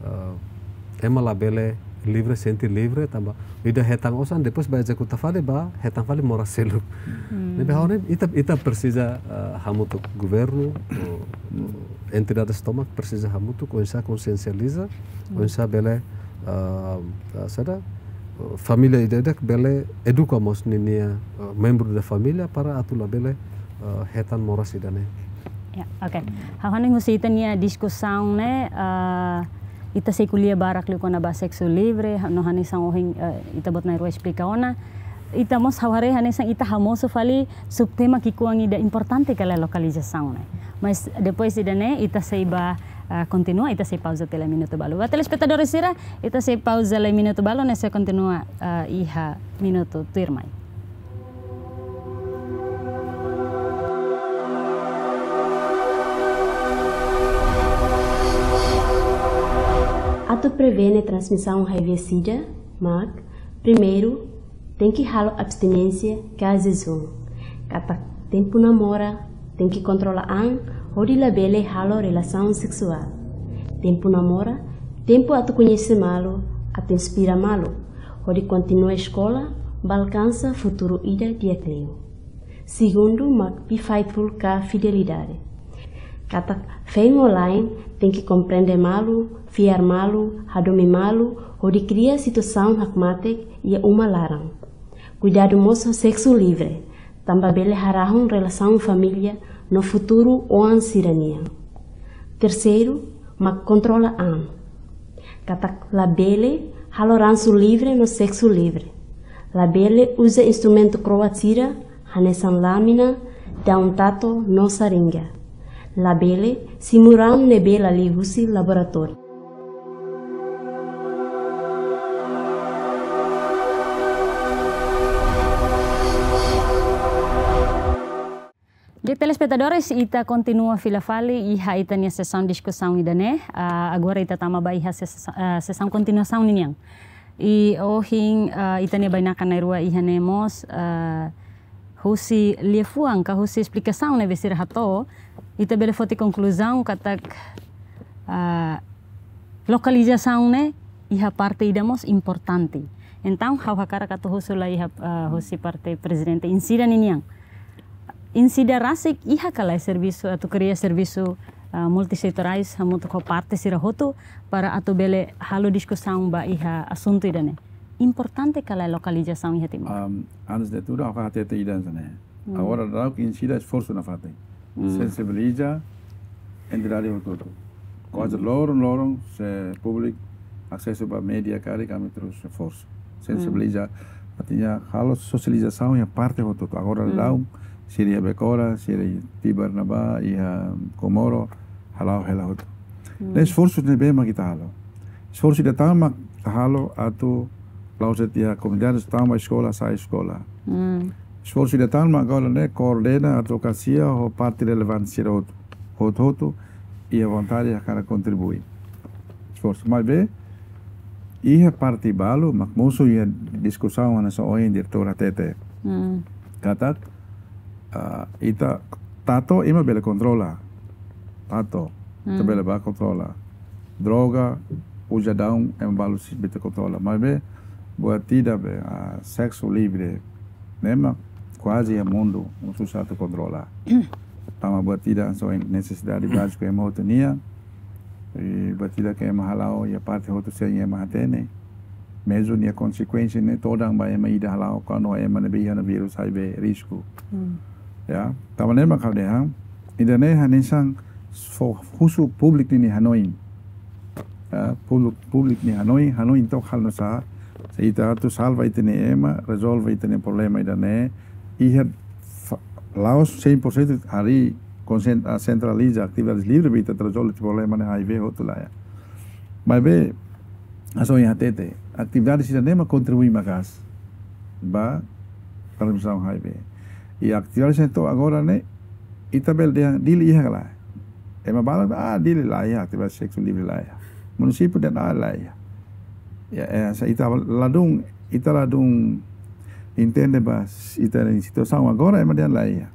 eh, ema labele livre, sente livre, tanba ida hetan osan, depois bá ezekuta fali, bá hetan fali moras seluk. Hmm. Ne'ebé ha'u hanoin ita, ita presiza, eh, hamutuk governu, eh, entidades tomak presiza hamutuk, oinsá konsiensializa, hmm, oinsá bele, eh, eh, saida, eh, família ida-idak bele eduka mós ninia, eh, membru da família para atu labele, eh, hetan moras ida-ne'e. Ya, oke. Ha'u hanoin husi ita-nia diskusaun ne'e, eh, ita sei ko'alia barak liu kona-ba seksu livre, no hanesan ohin, eh, ita-boot na'in-rua esplika ona. Ita mós ha'u haree hanesan ita hamosu fali subtema ki'ikoan ida importante ka lae lokalizasaun ne'e. Mas depois ida-ne'e, ita sei bá, eh, kontinua, ita sei pauza tiha lai minutu balu. Ba telespetadór sira, ita sei pauza lai minutu balu, no sei kontinua, eh, iha minutu tuirmai. Atu prevene transmisaun H I V sida, mak, primeiru, tenke halo abstinénsia ka jejún. Katak tempu namora, tenke kontrola an, hodi labele halo relasaun seksuál. Tempu namora, tempu atu koñese malu, atu inspira malu, hodi kontinua eskola, bá alkansa futuru ida di'ak liu. Segundu, mak be faithful ka fidelidade. Katak feen ho la'en tenke komprende malu, fiar malu, hadomi malu, hodi kria situasaun hakmatek iha uma laran. Kuidadu mós ho seksu livre, tanba bele harahun relasaun família no futuru oan sira-nian. Terseiru, mak kontrola an. Katak labele halo ransu livre no seksu livre. Labele uza instrumentu kro'at sira, hanesan lámina, daun tatu no saringa. Labele simu raun ne'ebé la liu husi laboratóriu. Oke, telespetadores, ita kontinua fila fali iha ita-nia sesaun diskusaun ida-ne'e. Ah, agora ita tama ba iha ses-, ah, sesaun kontinuasaun ninian. I ohin, ah, ita-nia bainaka na'in-rua iha ne'e mós, ah, husi liafuan ka husi esplikasaun ne'ebé sira hato'o, ita bele foti konkluzaun katak, ah, lokalizasaun ne'e iha parte ida mós importante. Entaun, ha'u hakarak atu husu lai iha, ah, husi parte prezidente Insida ninian. Insida rasik iha ka lae servisu atu kria servisu, ah, multisetorais hamutuk ho parte sira hotu para atu bele halo diskusaun ba iha asuntu ida-ne'e. Importante ka lae lokalizasaun iha Timor? Am, antes de tudo, ha'u hakarak hatete ida hanesan ne'e. Hmm. Agora daudaun Insida esforsu nafatin. Hmm. Sensibiliza entidade hotu-hotu. Kuaze, hmm, loron-loron se públiku asesu ba média karik ami terus esforsu. Sensibiliza, hmm, artinya halo sosializasaun iha parte hotu-hotu. Agora, hmm, daudaun, sira iha Becora, sira iha Tibar ne'ebá, iha Comoro, hala'o hela hotu. Hmm. Ne'e esforsu ne'ebé mak ita halo. Esforsu ida tan mak ita halo atu la'ós de'it iha komunidade, tama eskola, sa'e eskola. Hmm. Esforsu ida tan mak agora ne'e koordena advokasia ho parte relevante sira hotu. Hotu-hotu iha vontade hakarak kontribui. Esforsu. Maibé, iha parte balu, mak mosu iha diskusaun hanesan ohin diretór hatete. Hmm. Katak, ah, ita tatu ema bele kontrola. Tatu, ita, hmm, bele bá kontrola. Droga, uza daun, ema balu sei bele kontrola. Maibé, buat ida be, ah, seksu livre, ne'e mak kuaze iha mundu, susar atu kontrola. Tanba buat ida hanesan nesesidade bázika ema hotu nian, i buat ida ke ema hala'o iha parte hotu sein ema hatene. Mezmu nia konsekuénsia ne'e todan ba ema ida hala'o, kuandu ema ne'ebé iha ona vírus HIV risku. Hmm. Ya, tanba ne'e mak ha'u dehan, ida-ne'e hanesan fó husu públiku nia hanoin. Ya, públiku, públiku nia hanoin, hanoin took halo nusá, se ita atu salva ita-nia ema, rezolve ita-nia problema ida-ne'e, iha fa-, la'ós cem por cento harii konsen-, ah, sentraliza atividades livre, be ita rezolve problema ne'e HIV hotu lae. Maibé, hanesan ohin hatete, atividade sira-ne'e mak kontribui maka'as ba transmisaun HIV. I atividade sira to'o agora ne'e, ita bele dehan Dili iha ka lae. Ema balu, ah, Dili la iha, atividade seksu livre la iha. Munisípiu dehan, ah, la iha. Ya, eh, se ita ladún, ita ladún entende ba ita-nia situasaun agora, ema dehan la iha.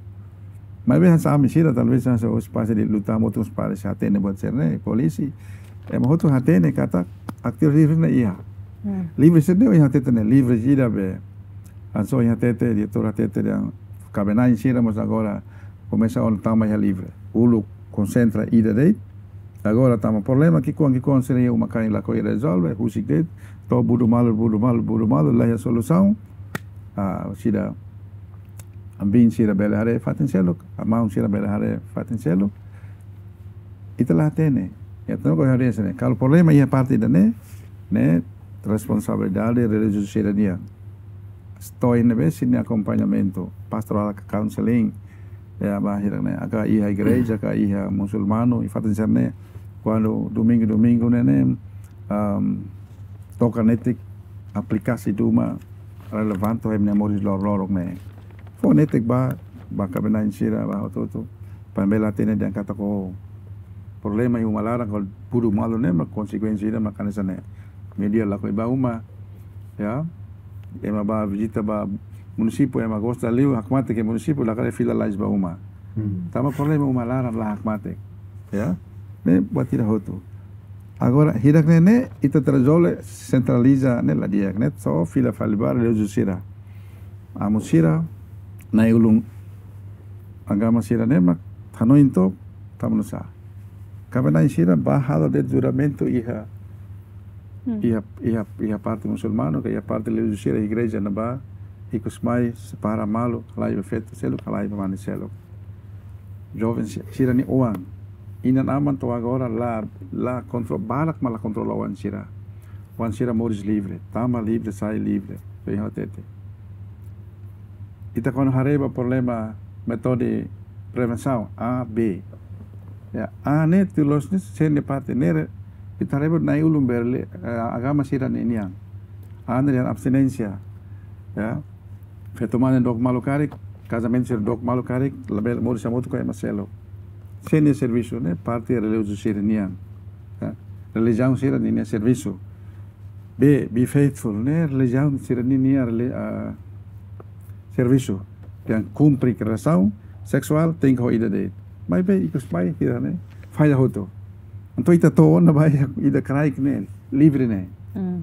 Maibé hanesan ami sira, talvés hanesan ohin pasa di luta motus para se hatene buat sira-ne'e, polísia. Ema hotu hatene katak atividade livre ne'e iha. Hmm. Livre sira-ne'e ohin hatete ne'e, livre ida be. Hanesan ohin hatete, diretór hatete dehan kaben-na'in sira mós agora komesa ona tama iha livre. Uluk konsentra ida de'it. Agora tama problema ki'ikoan, ki'ikoan sira iha uma-kain lakohi rezolve, husik de'it, to'o budu malu, budu malu, budu malu, la iha solusaun. Ah, sira, ambin sira bele haree fatin seluk, maun sira bele haree fatin seluk. Ita la hatene. Ya, tenke haree hanesan ne'e. Kalau problema iha parte ida-ne'e, ne'e responsabilidade relijiozu sira-nian. To'o iha ne'ebé sira-nia akompañamentu, pastoral ka counseling, ya, ba hirak-ne'e, ka iha igreja, ka iha musulmanu, i fatin sira-ne'e, kuandu domingu, domingu ne'e ne'e, am, toka netik aplikasi duma relevante ho ema nia moris loron-loron ne'e. Fó netik ba, ba kaben-na'in sira, ba hotu-hotu. Para bele hatene dehan katak problema iha uma laran, kalau budu malu ne'e, mak konsekuénsia ida mak hanesan ne'e. Média lakohi ba uma, ya. Ema bá vizita ba munisípiu, ema gosta liu, hakmatek ke munisípiu, la kare fila lais ba uma. Hmm. Tanba problema uma laran la hakmatek, ya. Ne'e buat ida hotu. Agora, hirak-ne'e ne'e, ita rezolve sentraliza ne'e la di'ak, ne'e só fila fali ba relijiozu sira. Amu sira, na'i-ulun agama sira-ne'e mak hanoin took, tama nusá. Kaben-na'in sira bá halo de'it juramentu iha, hmm, iha, iha, iha parte musulmanu, ka iha parte relijiozu sira, igreja ne'ebá, ikus mai, separa malu, halai ba feto seluk, halai ba mane seluk. Joven si-, sira-nia oan. Inan-aman to'o agora la, la kontro-, barak mak la kontrola oan sira. Oan sira moris livre, tama livre, sai livre. Bem hatete. Ita kuandu haree ba problema métodu prevensaun, A, B. Ya, A ne'e tuir loloos ne'e, sente parte ne'e, ita haree ba na'i-ulun bele, eh, agama sira-nian. A ne'e dehan abstinénsia. Ya. Feto mane dook malu karik, kazamentu sira dook malu karik, labele moris hamutuk ho ema seluk. Sé nia servisu ne'e, parte religiozu sira-nian. Ya. Relijiaun sira-ninia servisu. Be, be faithful ne'e, relijiaun sira-ninia reli-, ah, servisu. Yang kumpre relasaun seksuál tenke ho ida de'it. Maibé ikus mai sira ne'e falla hotu. Entaun ita to'o ona ba ida kraik ne'e, livre ne'e. Mm.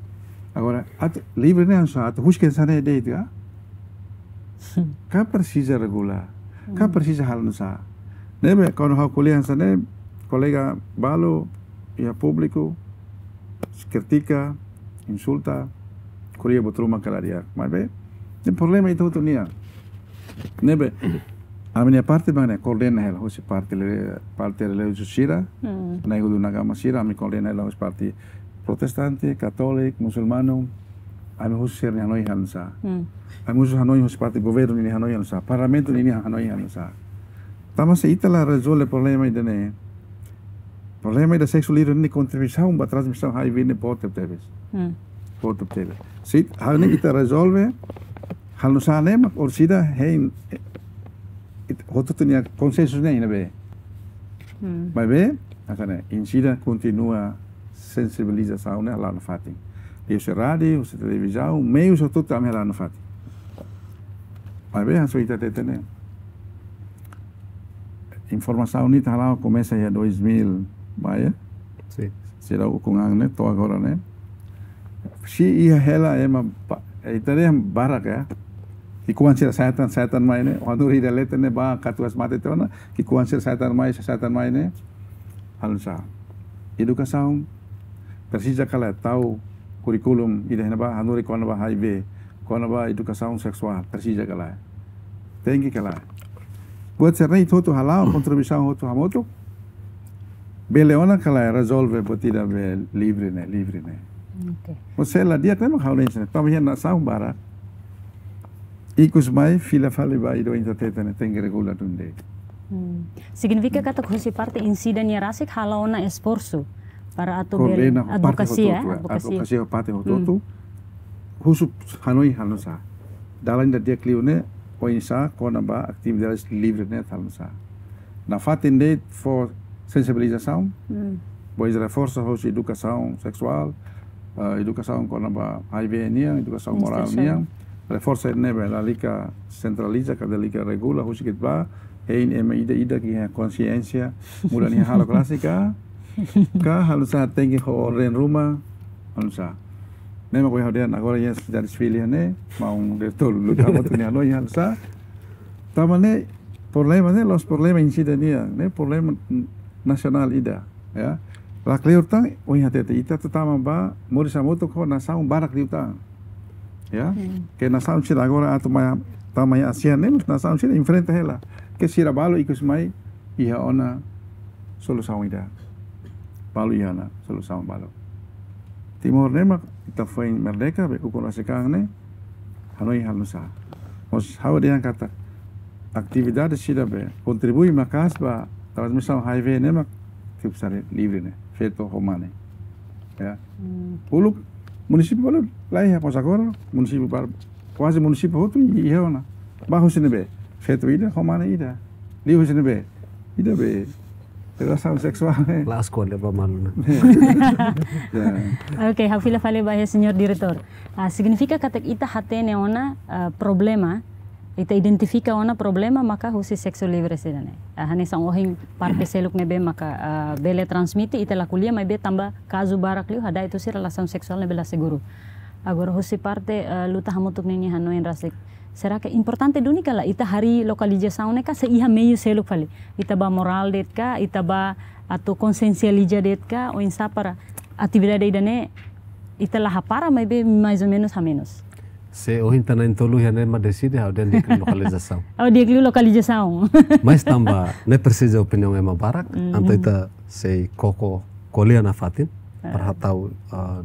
Agora, atu livre ne'e hanesan atu husik hanesan ne'e de'it ka? Ka presiza regula, ka presiza halo nusá. Ne'ebé, kuandu ha'u ko'alia hanesan ne'e, kolega balu, iha públiku, kritika, insulta, ko'alia buat ruma ka la di'ak. Maibé, ne'e problema ita hotu nian. Ne'ebé, ami-nia parte mak ne'e koordena hela, husi parte le-, parte religiozu sira, Mm. na'i-ulun agama sira, ami koordena hela husi parte protestante, katóliku, musulmanu, ami husu sira-nia hanoin hanesan sá. Mm. Ami husu hanoin husi parte governu ninia hanoin hanesan sá, parlamentu ninia hanoin hanesan sá. Tanba se ita la rezolve problema ida-ne'e, problema ida seksu livre ne'e kontribuisaun ba transmisaun H I V ne'e boot tebes. Mm. Boot tebes. Se hal ne'e ita rezolve, halo nusá ne'e mak orsida hein, it-, hotu-hotu nia konsensu ne'e iha ne'ebé. Mm. Maibé, hanesan ne'e, ita seidauk kontinua sensibilizasaun ne'e hala'o nafatin. Husi rádiu, husi televizaun, meius hotu-hotu ami hala'o nafatin. Maibé, hanesan ita hatete ne'e, informasaun ne'e ita hala'o komesa iha dois mil, ba ya? Sin. Sira ukun an ne'e, to'o agora ne'e. Se iha hela ema ba-, ita dehan barak ya. Ki'ikoan sira sa'e tan, sa'e tan mai ne'e, hanorin ida leten ne'e ba katuas mate tiha ona, ki'ikoan sira sa'e tan mai, sa'e tan mai ne'e. Halo nusá. Edukasaun, presiza ka lae tau kurríkulu ida iha ne'ebá, hanorin kona-ba H I V, kona-ba edukasaun seksuál, presiza ka lae. Tenke ka lae. Buat sira-ne'e hotu hala'o, kontribuisaun hotu hamutuk. Bele ona ka lae rezolve buat ida be livre ne'e, livre ne'e. Oke. Maibé la di'ak ne'e mak ha'u dehan hanesan ne'e. Tanba iha nasaun barak, ikus mai fila fali ba ida ohin ita hatete ne'e tenke regula duni de'it. Hmm. Signifika katak husi parte INCIDA nia rasik hala'o ona esforsu para atu bele Koordena ho parte advokasia, hotu-hotu, eh, advokasia. Advokasia ho parte hotu-hotu. Hmm. Husu hanoin halo nusá. Dalan ida di'ak liu ne'e, oinsá kona-ba atividade livre ne'e halo nusá. Nafatin de'it fó sensibilizasaun, Hmm. depois reforsa husi edukasaun seksuál, eh, edukasaun kona-ba H I V nian, edukasaun morál Instrusaun. nian, reforsa ne'ebé lalika sentraliza, ka lalika regula, husik de'it ba, hein ema ida-idak iha konsiénsia, muda nia halo klasika, ka halo nusá tenke ho orden ruma, halo nusá. Ne'e mak ohin ha'u dehan agora iha sidade Dili ne'e, maun diretór Luta Hamutuk nia hanoin halo nusá. Tanba ne'e, problema ne'e, la'ós problema INCIDA nian, ne'e problema nasionál ida, ya. La kleur tan, ohin hatete ita atu tama ba, moris hamutuk ho nasaun barak liután. Ya, Hmm. ke nasaun sira agora atu mai, tama iha ASEAN ne'e, nasaun sira enfrenta hela. Ke sira balu ikus mai, iha ona solusaun ida. Balu iha ona solusaun balu. Timor ne'e mak ita foin merdeka, be ukun rasik an ne'e, hanoin halo nusá. Mas ha'u dehan katak, atividade sira be kontribui maka'as ba transmisaun H I V ne'e mak, tipu sari livre ne'e, feto ho mane. Ya. Hmm. Uluk munisípiu balu laiha, mas agora munisípiu balu, kuaze munisípiu hotu iha ona. Ba husi ne'ebé? Feto ida, ho mane ida. Liu husi ne'ebé? Ida be relasaun seksuál, eh. La'ós ko'alia ba malu ona. Ya. Oke, ha'u fila fali ba iha señór diretór. Ah, signifika katak ita hatene ona, ah, problema, ita identifika ona problema maka husi seksu livre sira-ne'e. Ah, hanesan ohin parte seluk ne'ebé maka, ah, bele transmite, ita la ko'alia maibé tanba kazu barak liu hada'et husi relasaun seksuál ne'ebé la seguru. Agora husi parte, ah, Luta Hamutuk ninia hanoin rasik. Será ke importante duni ka lae ita harii lokalizasaun ne'e ka se iha meiu seluk fali? Ita ba morál de'it ka, ita ba atu konsiensializa de'it ka, oinsá para atividade ida-ne'e ita la hapara maibé mais ou menos hamenus. Se ohin ita na'in-tolu iha ne'e mak deside, ha'u dehan di'ak liu lokalizasaun. Oh, di'ak liu lokalizasaun. Mas tanba ne'e presiza opiniaun ema barak, Mhm. entaun ita sei koko ko'alia nafatin, Ah. para hatau, ah,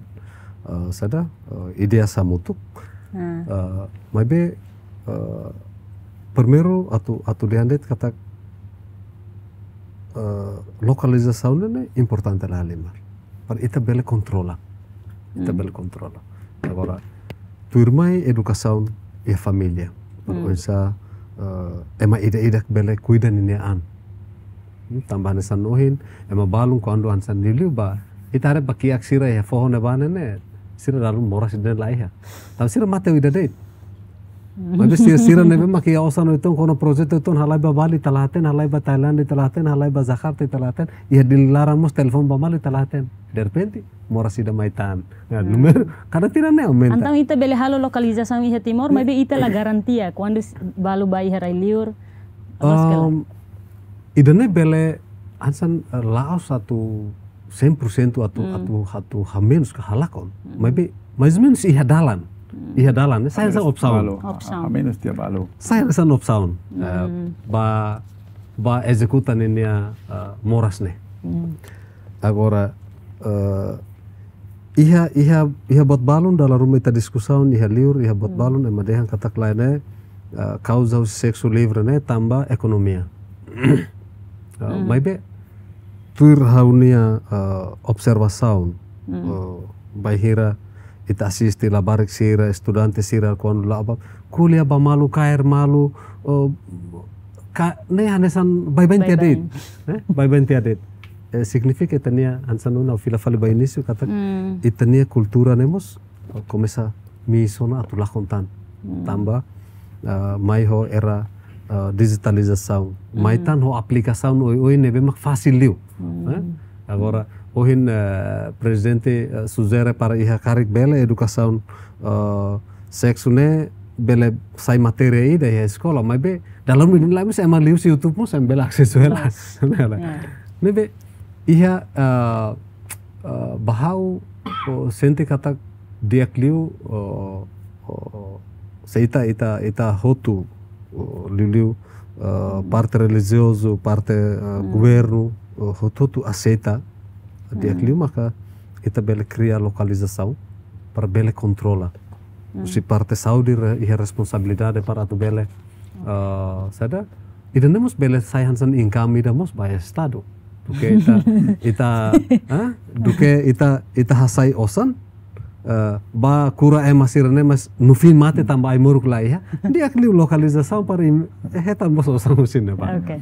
ah, saida, ah, ideia hamutuk. Ah. Ah, maibé, ah, primeiru atu, atu dehan de'it katak, ah, lokalizasaun ne'e importante lahalimar. Para ita bele kontrola. Ita Hmm. bele kontrola. Agora, tuirmai edukasaun iha família. Para Hmm. oinsá eh, ema ida-idak bele kuida ninia an. Hmm, tanba hanesan ohin, ema balun kuandu hanesan liuliu ba, ita haree ba kiak sira iha foho ne'ebá ne'e, sira dala ruma moras ida-ne'e la iha. Tanba sira mate ho ida de'it. Maibé sira, sira ne'ebé mak iha osan uitoan, kona projetu uitoan, halai ba Bali ita la hatene, halai ba Thailand ita la hatene, halai ba Jakarta ita la hatene, iha Dili laran mós telefone ba malu ita la hatene. Derrepente, moras ida mai tan. Ya, hmm, númeru, kada tinan ne'e aumenta. Entaun ita bele halo lokalizasaun iha Timor, maibé ita la garantia kuandu s-, balu ba iha rai-liur, loos ka lae? Em, ida-ne'e bele hanesan, eh, la'ós atu cem por cento atu, hmm, atu, atu hamenus ka halakon. Hmm. Maibé, mais ou menus iha dalan. Hmm. Iha dalan, ne'e sai hanesan opsaun. Balu, opsaun. Hamenus tiha balu. Sai hanesan opsaun. Eh, hmm, ba, ba ezekuta ninia, eh, moras ne'e. Hmm. Agora, eh, iha, iha, iha buat balun dala ruma ita diskusaun, iha liur, iha buat, hmm, balun, ema dehan katak lae ne'e, eh, kauza husi seksu livre ne'e tanba ekonomia. Eh, hmm, maibé, tuir ha'u-nia, eh, observasaun, hmm, eh, bainhira ita asiste labarik sira, estudante sira, kuandu la'o ba, ko'alia ba malu, kaer malu, eh, ka, ne'e hanesan baibain tiha de'it. Baibain. Eh? Baibain tiha de'it. Eh, signifika ita-nia hanesan ohin ha'u fila fali ba inísiu katak, hmm, ita-nia kultura ne'e mós, eh, komesa misu ona atu lakon tan. Hmm. Tanba, eh, mai ho era, eh, dijitalizasaun. Mai, hmm, tan ho aplikasaun oioin ne'ebé mak fasil liu. Hmm. Eh? Agora, ohin, eh, prezidente, eh, sujere para iha karik bele edukasaun, eh, seksu ne'e bele sai matéria ida iha eskola, maibé dala ruma ida-ne'e la mós ema liu husi YouTube mós ema bele asesu hela. Yes. Ne'e la. Ya. Maibé iha, eh, eh, ba ha'u, oh, sente katak di'ak liu, oh, oh, se ita, ita, ita hotu, oh, liuliu, eh, hmm, parte relijiozu, parte, eh, hmm, governu, eh, hotu-hotu aseita, di'ak, hmm, liu maka ita bele kria lokalizasaun para bele kontrola. Hmm. Husi parte saúde re-, iha responsabilidade para atu bele, eh, saida, ida-ne'e mós bele sai hanesan income ida mós ba Estadu. Duké ita, ita, ah? Duké ita, ita hasai osan, eh, ba kura ema sira-ne'e, mas no fim mate tanba ai-moruk la iha. Di'ak liu lokalizasaun para im-, eh, hetan mós osan husi ne'ebá. Oke.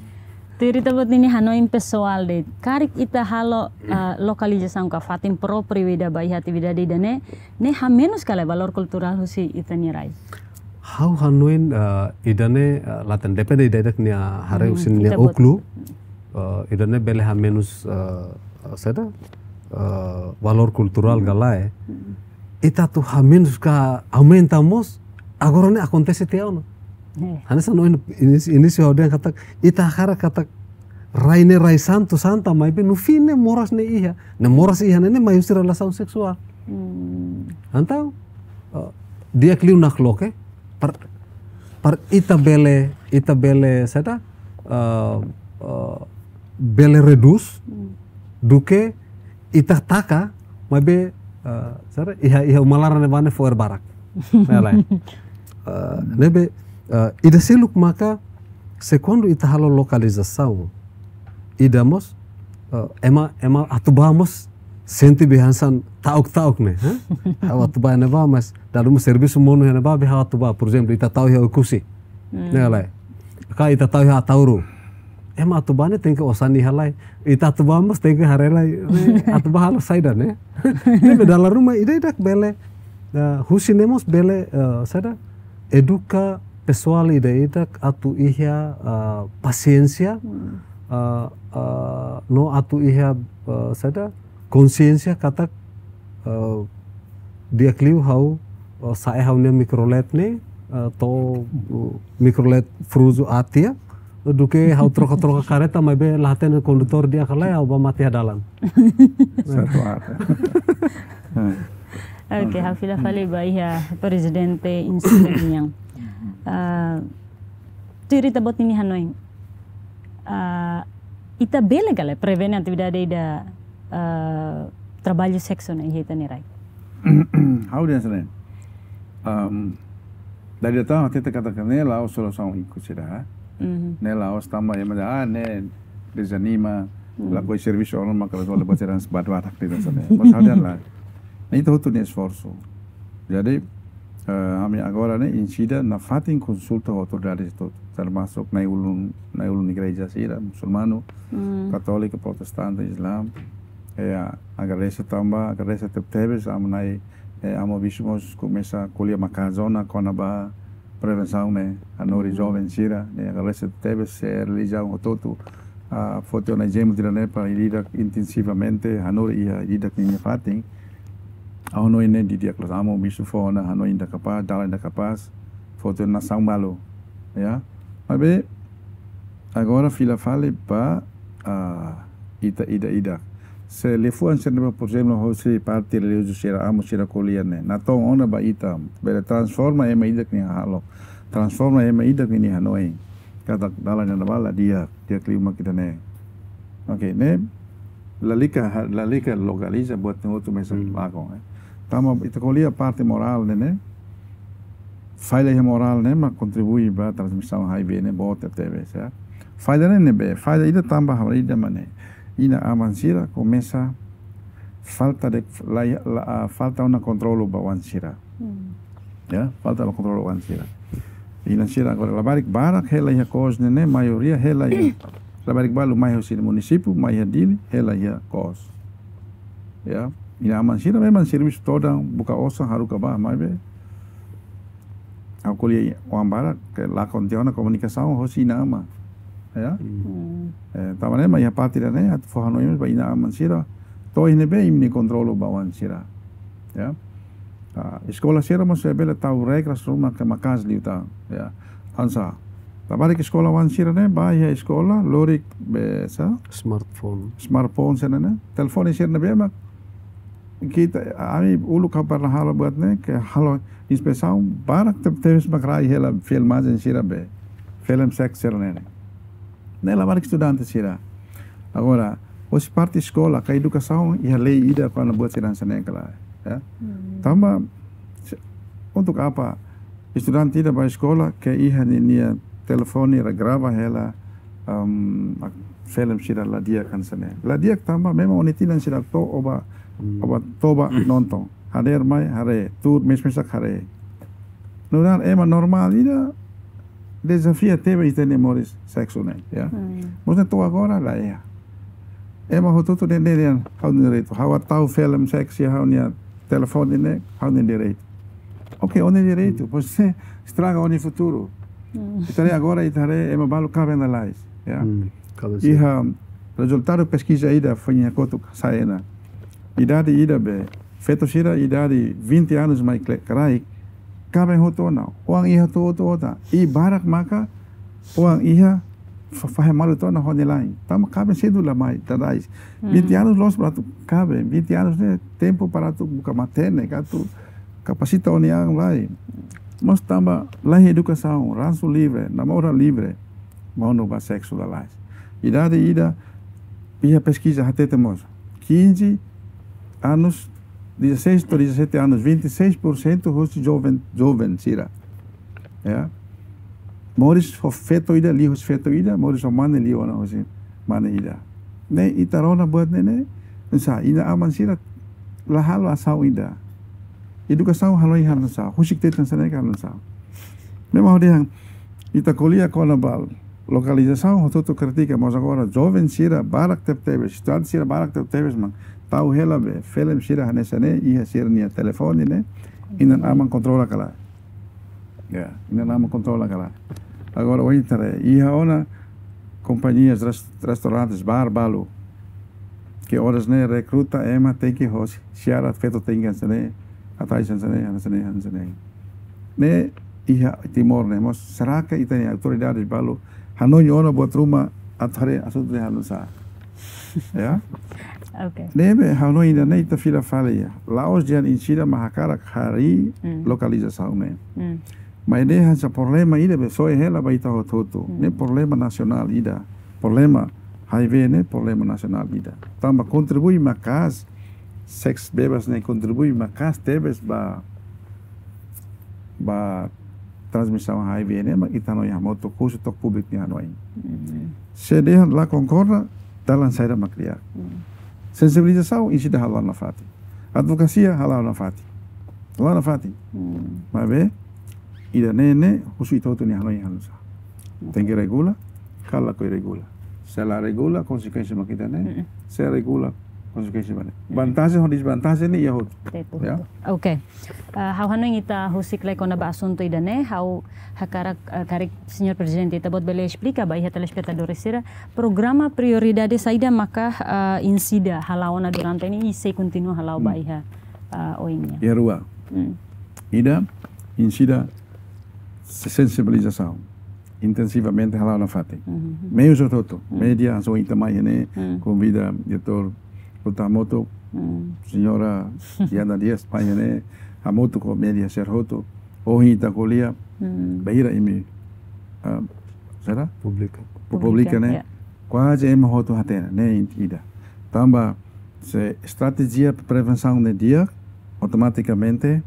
Tuir ita-boot nia hanoin pesoál de'it, karik ita halo, eh, lokalizasaun ka fatin própriu ida ba iha atividade ida-ne'e, ne'e hamenus ka lae valór kulturál husi ita-nia rai? Ha'u hanoin, eh, ida-ne'e, eh, la hatene, depende ida-idak nia haree, hmm, husi nia, ita-boot, oklu, eh, ida-ne'e bele hamenus, eh, saida, eh, valór kulturál, hmm, ka lae. Hmm. Ita atu hamenus ka aumenta mós, agora ne'e akontese tiha ona. Eh. Hanesan ohin inísiu, inísiu ha'u dehan katak, ita hakarak katak rai ne'e rai santu santa, maibé no fim ne'e moras ne'e iha. Ne'e moras iha ne'e, ne'e mai husi relasaun seksuál. Hmm. Entaun, eh, di'ak liu nakloke, para, para ita bele, ita bele, saida, eh, eh, bele redús, hmm, duké ita taka, maibé, eh, saida, iha, iha uma laran ne'ebá ne'e fo'er barak. Ne'e lae. Eh, ne'ebé, eh, ida seluk maka, se kuandu ita halo lokalizasaun, ida mós, eh, ema, ema atu bá mós sente be hanesan ta'uk-ta'uk ne'e, ha? Ha'u atu bá ne'ebá, mas dala ruma servisu monu iha ne'ebá, be ha'u atu bá, por ezemplu, ita tau iha Oekusi. Hmm. Ne'e lae. Ka ita tau iha Ataúru. Ema atu bá ne'e tenke osan iha lai. Ita atu bá mós tenke haree lai. Ne'e atu bá halo saida ne'e. Ne'ebé dala ruma ida-idak bele, eh, husi ne'e mós bele, eh, saida, eduka pesoál ida-idak atu iha, eh, pasiénsia, hmm, eh, eh, no atu iha, eh, saida, konsiénsia katak, eh, di'ak liu ha'u, eh, sa'e ha'u-nia mikrolet ne'e, eh, to'o, eh, mikrolet fruzu aat tiha, duké ha'u troka-troka kareta, maibé la hatene kondutór di'ak ka lae, ha'u bá mate iha dalan. Satu arah. Oke, ha'u fila fali ba iha Prezidente Insigne nian. Ah, tuir ita-boot nia hanoin. Ah, ita bele ka lae prevene atividade ida, ah, traballu seksu ne'e iha ita-nia rai? Ha'u dehan hanesan ne'e. Em, dala ida tan hatete katak ne'e la'ós solusaun ikus ida. Mhm. Ne'e la'ós tanba ema dehan, ah, ne'e dezanima, hmm, lakohi servisu ona maka la sole baseran sebat batak tidak sana. Mas ha'u dehan lae. Ne'e ita hotu nia esforsu. Jadi, Eh, ami agora ne'e, insi ida nafatin konsulta ho autoridades hotu, termasuk na'i-ulun, na'i-ulun igreja sira, musulmanu, katóliku, protestante, Islam. Eh, agradese tanba, agradese tebetebes, ami-nia, eh, ami bisu mós komesa ko'alia maka'as ona kona-ba prevensaun ne'e, hanorin joven sira, ne'e agradese tebes, eh, relijiaun hotu-hotu, ah, foti ona ezemplu ida-ne'e para ida-idak intensivamente, hanorin iha ida-idak nia fatin. Ha'u hanoin ne'e di'ak loos, ami bisu fó ona hanoin ida kapás, dalan ida kapás, foti ona nasaun balu, ya. Maibé, agora fila fali ba, ah, ita ida-idak. Se liafuan sira-ne'e, por ezemplu, hosi parte religiozu sira, amu sira ko'alia ne'e, natoon ona ba ita, bele transforma ema ida-idak nia hahalok, transforma ema ida-idak nia hanoin. Katak dalan ne'ebá la di'ak, di'ak liu mak ida-ne'e. Oke, ne'e lalika, lalika lokaliza buat ne'e hotu mesak lakon, eh. Tanba ita ko'alia parte morál ne'e, ne'e. Falla iha morál ne'e mak kontribui ba transmisaun H I V ne'e boot tebes, ya. Falla ne'e ne'ebé, falla ida tanba ha'u haree ida mak ne'e. Inan-aman sira komesa falta de, la, la, ah, falta ona kontrolu ba oan sira. Ya, falta ona kontrolu ba oan sira. Inan sira agora labarik barak hela iha kos ne'e, ne'e maioria hela iha, labarik balu mai husi munisípiu, mai iha Dili, hela iha kos. Ya, inan-aman sira memang servisu todan, buka osan, haruka bá, maibé ha'u ko'alia oan barak ke lakon tiha ona komunikasaun hosi inan-aman. Ya. Eh, tanba ne'e mak iha parte ida-ne'e, atu fó hanoin ba inan-aman sira, to'o iha ne'ebé imi-nia kontrolu ba oan sira. Ya. Ah, eskola sira mós bele tau regras ruma ke maka'as liután, ya. Hanesan, labarik eskola oan sira ne'e, bá iha eskola, lori be sá? Smartphone. Smartphone sira-ne'e, telefone sira-ne'ebé mak ita, ami uluk ha'u pernah halo buat ne'e, ke halo inspesaun, barak tebetebes mak rai hela filmajen sira be, film seks sira-ne'e. Ne'e labarik estudante sira. Agora, hosi parte eskola, ka edukasaun, iha lei ida kona-ba buat sira hanesan ne'e ka lae, ya. Tanba, se-, untuk apa estudante ida bá eskola, ke iha ni-, nia telefone atu grava hela, em, ak-, film sira la di'ak hanesan ne'e. La di'ak tanba memang ó-nia tinan seidauk to'o ó bá, ó bá toba nonton. Hadeer mai haree, tuur mes-mesak haree. Nu'udar ema normál ida, dezafia tebes ita-nia moris seksu ne'e, ya. Maibé to'o agora la iha. Ema hotu-hotu dehan, dehan ha'u-nia direitu. Ha'u atu tau film seks iha ha'u-nia telefone ne'e, ha'u-nia direitu. Oke, ó-nia direitu, maibé estraga ó-nia futuru. Ita haree agora, ita haree ema balu kaben lalais, ya. Iha rezultadu peskiza ida foin iha kotuk sai ona. Idade ida be, feto sira idade vinte anos mai kle-, kraik, kaben hotu ona, oan iha hotu-hotu ona. I barak maka oan iha fa-, fahe malu tiha ona ho nia la'en. Tanba kaben sedu la mai, tadais. Vinte anos loos para atu kaben, vinte anos ne'e tempu para atu buka matenek, atu kapasita ó-nia an lai. Maibé tanba laiha edukasaun, ransu livre, namora livre, monu ba seksu lalais. Idade ida, iha peskiza hatete mós, quinze anos, dezasseis to'o dezassete anos, vinte e seis por cento hosi joven, joven sira. Ya. Moris ho feto ida, liu hosi feto ida, moris ho mane, liu ona hosi mane ida. Ne'e ita rona buat ne'e, ne'e, hanesan inan-aman sira la halo asaun ida. Edukasaun halo iha hanesan, husik tetun hanesan ne'e ka hanesan. Memang hodi han, ita ko'alia kona-ba lokalizasaun, hotu-hotu kritika, maibé agora joven sira barak tebetebes, estudante sira barak tebetebes mak tau hela be film sira hanesan ne'e iha sira-nia telefone ne'e, inan-aman kontrola ka lae. Ya, inan-aman kontrola ka lae. Agora, ohin ita haree, iha ona kompañias, res-, restaurantes, bar balu, ke oras ne'e rekruta ema tenke hosi, syarat feto tenke hanesan ne'e, atais hanesan ne'e, hanesan ne'e, hanesan ne'e. Ne'e iha Timor ne'e, maibé será ke ita-nia autoridades balu hanoin ona buat ruma atu haree asuntu ne'e hanesan sá? Ya? Oke. Ne'ebé hanoin ida-ne'e ita fila fali, ya. La'ós dehan insi ida mak hakarak harii lokalizasaun ne'e. Maibé ne'e hanesan problema ida be soe hela ba ita hotu-hotu. Ne'e problema nasionál ida. Problema H I V ne'e problema nasionál ida. Tanba kontribui maka'as, seks bebas ne'e kontribui maka'as tebes ba, ba transmisaun H I V ne'e, maibé ita hanoin hamutuk, husu to'o públiku nia hanoin. Se dehan la konkorda, dalan saida mak di'ak. Sensibilizasaun, insi ida hala'o nafatin. Advokasia, hala'o nafatin. Hala'o nafatin. Hmm. Maibé, ida-ne'e ne'e, husu ita hotu nia hanoin hanesan sá. Oke. Tenke regula, ka lakohi regula. Se la regula, konsekuénsia mak ida-ne'e. Mm-mm. Se regula, konsekuénsia mak ne'e. Mm-mm. Vantajen ho dezvantajen ne'e iha hotu. Tetu, ya. Tetu. Oke. Ah, ha'u hanoin ita husik lai kona-ba asuntu ida-ne'e, ha'u hakarak, ah, karik Señór Prezidente Ita-Boot bele esplika ba iha telespetadór sira, programa prioridade saida maka, ah, INCIDA hala'o ona durante ne'e i sei kontinua hala'o ba Hmm. iha, ah, oin nian. Iha rua. Hmm. Ida, INCIDA sensibilizasaun intensivamente hala'o nafatin. Mhm. Meius hotu-hotu, Hmm. média, hanesan ita mai ne'e, Hmm. konvida diretór Luta Hamutuk, Hmm. señora Diana Dias, mai ne'e, hamutuk ho média sira hotu. Ohin ita ko'alia, Hmm. bainhira imi, ah, saida? Publika. Pu-, publika, Publika, ne'e? Ya. Kuaze ema hotu hatene, ne'e ida. Tanba se estratéjia prevensaun ne'e di'ak, automatikamente,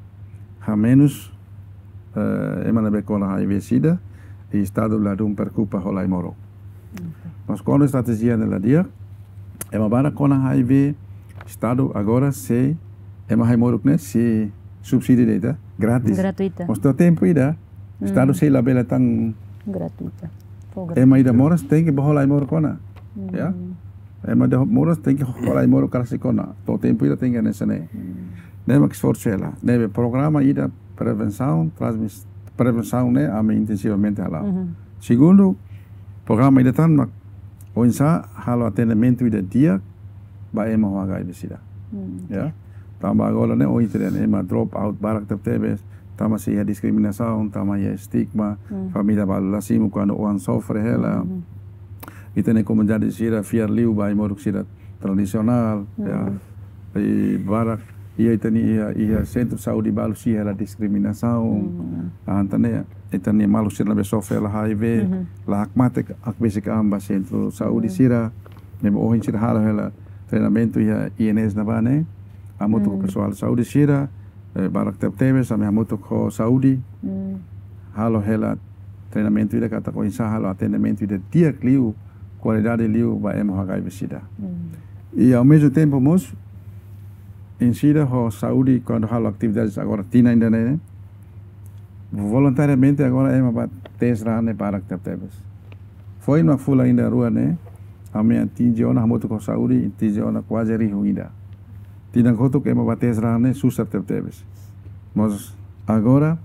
hamenus, eh, ema ne'ebé kona HIV SIDA, i Estadu ladún preokupa ho lai-moruk. Oke. Mas kuandu estratéjia ne'e la di'ak, ema barak kona HIV, Estadu agora sei, ema lai-moruk ne'e sei subsídiu de'it, grátis. Gratuita. Mas to'o tempu ida, Estadu Hmm. sei labele tan Gratuita. Fó gratuita. Ema ida moras tenke bá ho lai-moruk kona. Hmm. Ya? Ema ida moras tenke ho lai-moruk karik sei kona. To'o tempu ida tenke hanesan ne'e. Hmm. Ne'e mak esforsu hela. Ne'ebé programa ida prevensaun, transmis-, prevensaun ne'e ami intensivamente hala'o. Mhm. Segundu, programa ida tan mak oinsá halo atendimentu ida di'ak ba ema ho HIV SIDA. Hmm, Ya. oke. Tanba agora ne'e ohin ita dehan ema drop out barak tebetebes, tanba sei iha diskriminasaun, tanba iha estigma, Hmm. família balu la simu kuandu oan sofre hela. Hmm. Ita-nia komunidade sira fiar liu ba ai-moruk sira tradisionál, ya. Hmm. I barak, iha ita-nia, iha, iha sentru saúde balu sei iha hela diskriminasaun. Hmm. Ah, entaun ne'e, ita-nia maluk sira ne'ebé sofre hela HIV, Mhm. la hakmatek hakbesik an ba sentru saúde Hmm. sira, ne'ebé ohin sira halo hela treinamentu iha INS ne'ebá ne'e, hamutuk ho Hmm. pesoál saúde sira, eh, barak tebetebes, ami hamutuk ho saúde, Hmm. halo hela treinamentu ida katak oinsá halo atendimentu ida di'ak liu, kualidade liu ba ema ho HIV SIDA. Hmm. I ao mesmo tempo mós, INCIDA ho saúde kuandu halo atividades agora tinan ida-ne'e, voluntariamente agora ema bá teste raan ne'e barak tebetebes. Foin mak fulan ida rua ne'e, ami atinje ona hamutuk ho saúde, atinje ona kuaze rihun ida. Tinan kotuk ema bá teste raan ne'e susar tebetebes. Mas agora,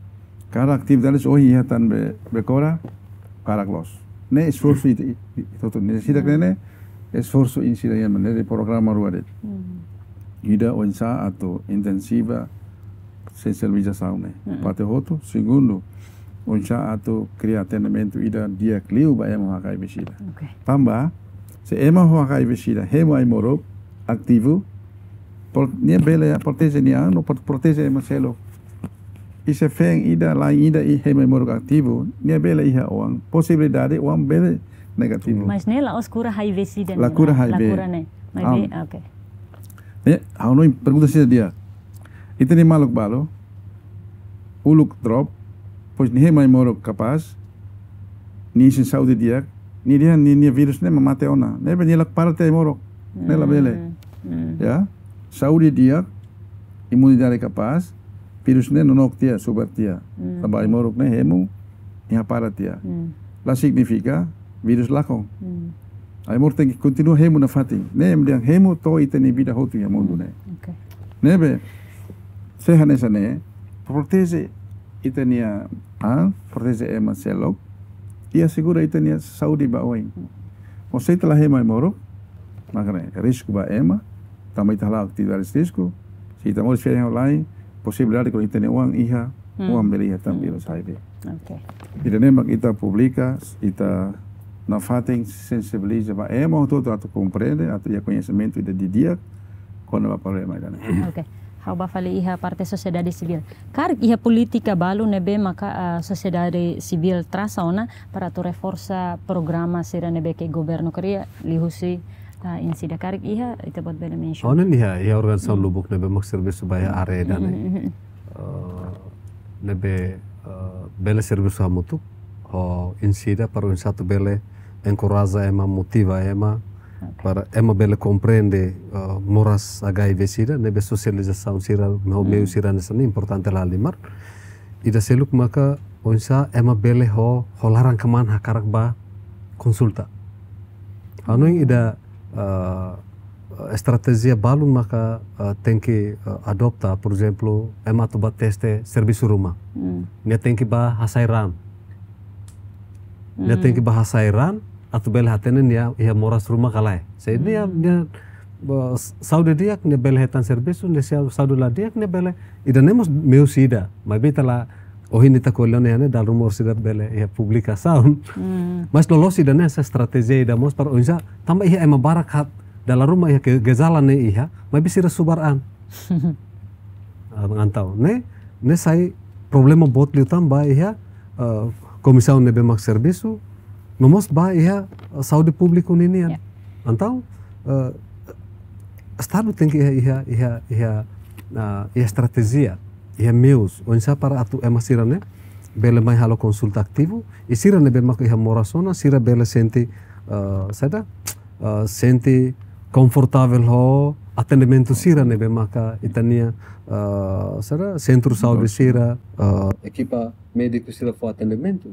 kada atividades ohin iha tan be, Becora, barak loos. Ne'e esforsu ita, i, i, ita hotu. Ne'e sira Hmm. ne'e, esforsu INCIDA iha ne'e, programa rua de'it. Hmm. Ida oinsá atu intensiva sensibilizasaun ne'e. Hmm. Parte hotu, segundu, oinsá atu kria atendimentu ida di'ak liu ba ema ho HIV SIDA. Oke. Tanba, se ema ho HIV SIDA, hemu ai-moruk, ativu, pro-, nia bele proteje nia an, no pro-, proteje ema seluk. I se feen ida, la'en ida, i hemu ai-moruk ativu, nia bele iha oan, posibilidade oan bele negativu. Mas ne'e la'ós kura HIV SIDA La ne'e, kura la, la HIV. kura ne'e. Mas Am. be, oke. Eh, ha'u hanoin pergunta sira di'ak. Ita-nia maluk balu, uluk drop, depois nia hemu ai-moruk kapás, nia isin saúde di'ak, nia dehan nia, nia vírus ne'e mak mate ona. Ne'ebé nia la para tiha ai-moruk. Ne'e labele. Hmm, hmm. Ya, saúde di'ak, imunidade kapás, vírus ne'e nonook tiha, subar tiha. Hmm. Tanba ai-moruk ne'e hemu, nia para tiha. Hmm. La signifika vírus lakon. Hmm. Ai-moruk tenke kontinua hemu nafatin. Ne'e mak dehan hemu to'o ita-nia vida hotu iha mundu Hmm. ne'e. Oke. Ne'ebé, se hanesan ne'e, proteje ita-nia an, proteje ema seluk, i asegura ita-nia saúde ba oin. Mas se ita la hemu ai-moruk, maka ne'e risku ba ema, tanba ita hala'o atividades risku, se ita moris feen ho la'en, posibilidade katak ita-nia oan iha, Hmm. oan bele iha tan Hmm. vírus HIV. Oke. Ida-ne'e mak ita publika, ita nafatin sensibiliza ba ema hotu-hotu atu komprende, atu iha koñesimentu ida didi'ak, kona-ba problema ida-ne'e. Oke. Ha'u bá fali iha parte sosiedade sivíl. Karik iha polítika balu ne'ebé maka, ah, sosiedade sivíl trasa ona para atu reforsa programa sira ne'ebé ke governu kria liuhusi, ah, INCIDA, karik iha, Ita-Boot bele mensiona. Ha'u hanoin iha, iha organizasaun Hmm. lubuk ne'ebé mak servisu ba iha área ida-ne'e. Hmm, hmm, hmm. Eh, ne'ebé, eh, bele servisu hamutuk ho INCIDA para oinsá atu bele enkoraja ema, motiva ema, Para ema bele komprende, eh, moras H I V sida, ne'ebé sosializasaun sira, no meiu sira hanesan ne'e importante lahalimar. Ida seluk maka oinsá ema bele ho, ho laran-kmaan hakarak bá konsulta. Ha'u hanoin ida, eh, estratéjia balun maka, eh, tenke, eh, adopta, por ezemplu, ema atu bá teste servisu ruma. Nia tenke bá hasai raan. Nia tenke bá hasai raan, atu bele hatene nia iha moras ruma ka lae. Se nia, nia, eh, saúde di'ak, nia bele hetan servisu, nia sa-, saúde la di'ak, nia bele. Ida-ne'e mós meius ida. Maibé ita la, ohin ita ko'alia ona iha ne'e, dala ruma orsida bele iha publikasaun. Mas loloos ida-ne'e hanesan estratéjia ida mós para oinsá, tanba iha ema barak haat, dala ruma iha ke-, gejala ne'e iha, maibé sira subar an. Ah, entaun, ne'e, ne'e sai problema boot liután ba iha, eh, komisaun ne'ebé mak servisu, no mós ba iha, eh, saúde públiku ninian. Ya. Entaun, eh, Estadu tenke iha, iha, iha, iha, ah, iha estratéjia, iha meius, oinsá para atu ema sira-ne'e bele mai halo konsulta ativu, i sira ne'ebé mak iha moras ona, sira bele sente, eh, saida, eh, sente konfortavel ho atendimentu sira ne'ebé maka ita-nia, eh, saida, sentru saúde sira, eh, ekipa médiku sira fó atendimentu.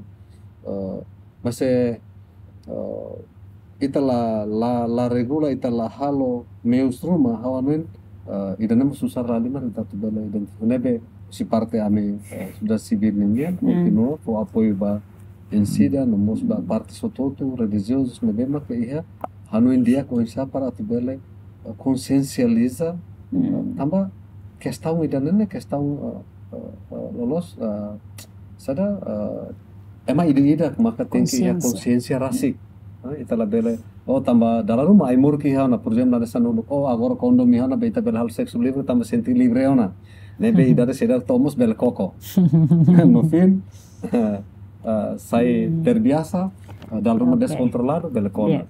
Eh, mas, eh, eh, ita la, la, la regula, ita la halo meius ruma, ha'u hanoin, eh, ida-ne'e mós susar lahalimar ita atu bele identifika. Ne'ebé husi parte ami, eh, sosiedade sivíl ninian, kontinua fó apoiu ba ensida, no mós ba parte hotu-hotu, relijiozus, ne'ebé maka iha hanoin di'ak oinsá para atu bele, eh, konsiensializa, eh, tanba kestaun ida-ne'e ne'e kestaun, eh, eh, eh, loloos, eh, saida, eh, ema ida-idak maka tenke iha konsiénsia rasik. Eh, ita labele, oh, tanba dala ruma ai-moruk iha ona, por ezemplu, hanesan uluk, oh, agora kondom iha ona, be ita bele halo seksu livre, tanba sente livre ona. Ne'ebé idade seidauk to'o mós bele koko. No fim, eh, eh, sai terbiasa, eh, dala ruma deskontroladu, bele kona.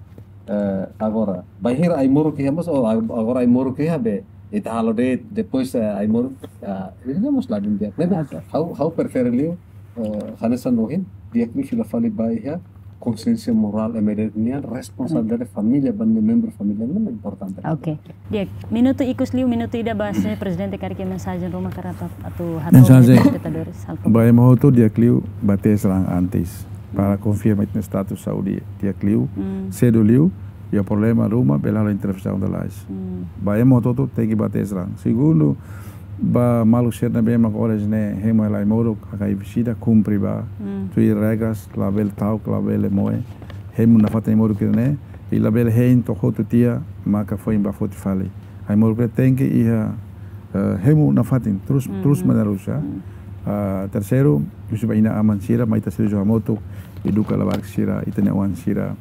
Eh, agora, bainhira ai-moruk iha mós, oh, ag-, agora ai-moruk iha be, ita halo de'it, depois, eh, ai-moruk, ah, ida-ne'e mós ladún di'ak. Ne'ebé, ha'u, ha'u prefere liu, eh, hanesan ohin, di'ak liu fila fali ba iha konsiénsia morál ema ida nian, responsabilidade família, ba nia membru família, ne'e importante. Oke. Di'ak, minutu ikus liu, minutu ida ba se prezidente karik iha mensajen ruma karik atu, atu hato'o ba telespetadores, halo favór. Ba ema hotu di'ak liu, bá tes raan antes, para konfirma ita-nia status saúde di'ak liu, sedu liu, iha problema ruma, bele halo intervensaun lalais. Ba ema hotu-hotu tenke bá tes raan. Segundu, ba maluk sira ne'ebé mak oras ne'e hemu hela ai-moruk, H I V sida, kumpre ba, tuir regras, labele ta'uk, labele moe, hemu nafatin ai-moruk ida-ne'e, i labele hein to'o hotu tiha, maka foin bá foti fali. Ai-moruk ne'e tenke iha, eh, hemu nafatin, terus, terus menerus, ya. Ah, terseiru, husu ba inan-aman sira, mai ita servisu hamutuk, eduka labarik sira, ita-nia oan sira,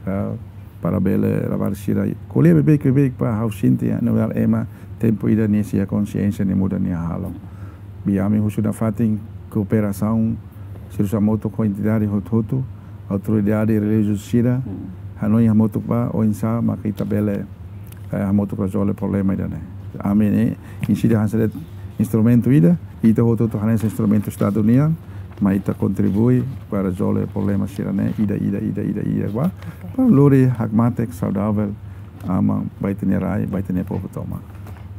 ah, para bele labarik sira ko'alia beibeik, beibeik, para ha'u sente, ya, no ema, tempu ida nia sei iha konsiénsia, nia muda nia hahalok. Be ami husu nafatin kooperasaun, servisu hamutuk ho entidade hotu-hotu, autoridade relijiozu sira, hanoin hamutuk ba, oinsá maka ita bele, eh, hamutuk rezolve problema ida-ne'e. Ami ne'e, ensida hanesan de'it instrumentu ida, ita hotu-hotu hanesan instrumentu Estadu nian, mai ita kontribui para rezolve problema sira-ne'e, ida, ida, ida, ida, ida, ba. Oke. Para lori hakmatek, saudavel, aman, ba ita-nia rai, ba ita-nia povu tomak.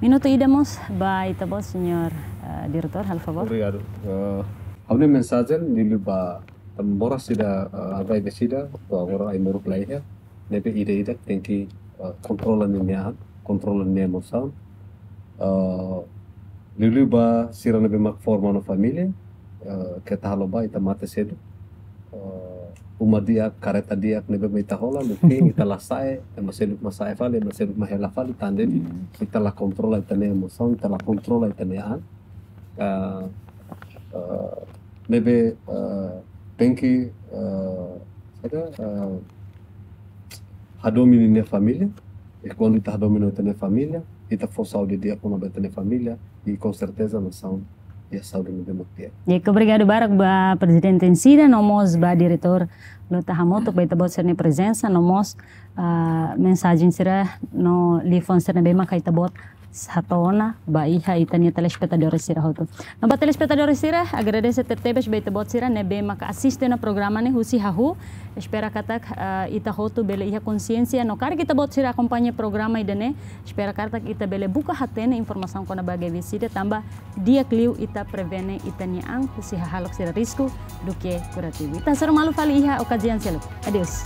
Minutu ida mós, ba ita-boot, señór, eh, diretór, halo favór. Obrigadu. Eh, ha'u-nia mensajen, liuliu ba, tanba moras ida, eh, H I V sida, to'o agora ai-moruk la iha, ne'ebé ida-idak tenke, eh, kontrola ninia an, kontrola ninia emosaun. Eh, liuliu ba sira ne'ebé mak forma ona família, eh, keta halo ba ita mate sedu. Eh, uma di'ak, kareta di'ak ne'ebé mak ita hola, no fim ita la sa'e, ema seluk mak sa'e fali, ema seluk mak hela fali, tanba ita la kontrola ita-nia emosaun, ita la kontrola ita-nia an. Eh, eh, ne'ebé, eh, tenke, eh, saida, eh, hadomi ninia família, i kuandu ita hadomi ona ita-nia família, ita fó saúde di'ak ona ba ita-nia família, i konserteza nasaun iha saúde ne'ebé mak di'ak. Di'ak, obrigadu barak ba prezidente ensida, no mós ba diretór Luta Hamutuk ba ita-boot sira-nia prezensa, no mós, ah, mensajen sira no liafuan sira ne'ebé maka ita-boot hato'o ona ba iha ita-nia telespetadór sira hotu. No ba telespetadór sira, agradese tebetebes ba ita-boot sira ne'ebé maka asiste ona programa ne'e husi hahú. Espera katak, ah, ita hotu bele iha konsiénsia no karik ita-boot sira akompaña programa ida-ne'e, espera katak ita bele buka hatene informasaun kona-ba H I V sida tanba di'ak liu ita prevene ita-nia an husi hahalok sira risku duké kurativu. Ita hasoru malu fali iha okaziaun seluk. Adeus.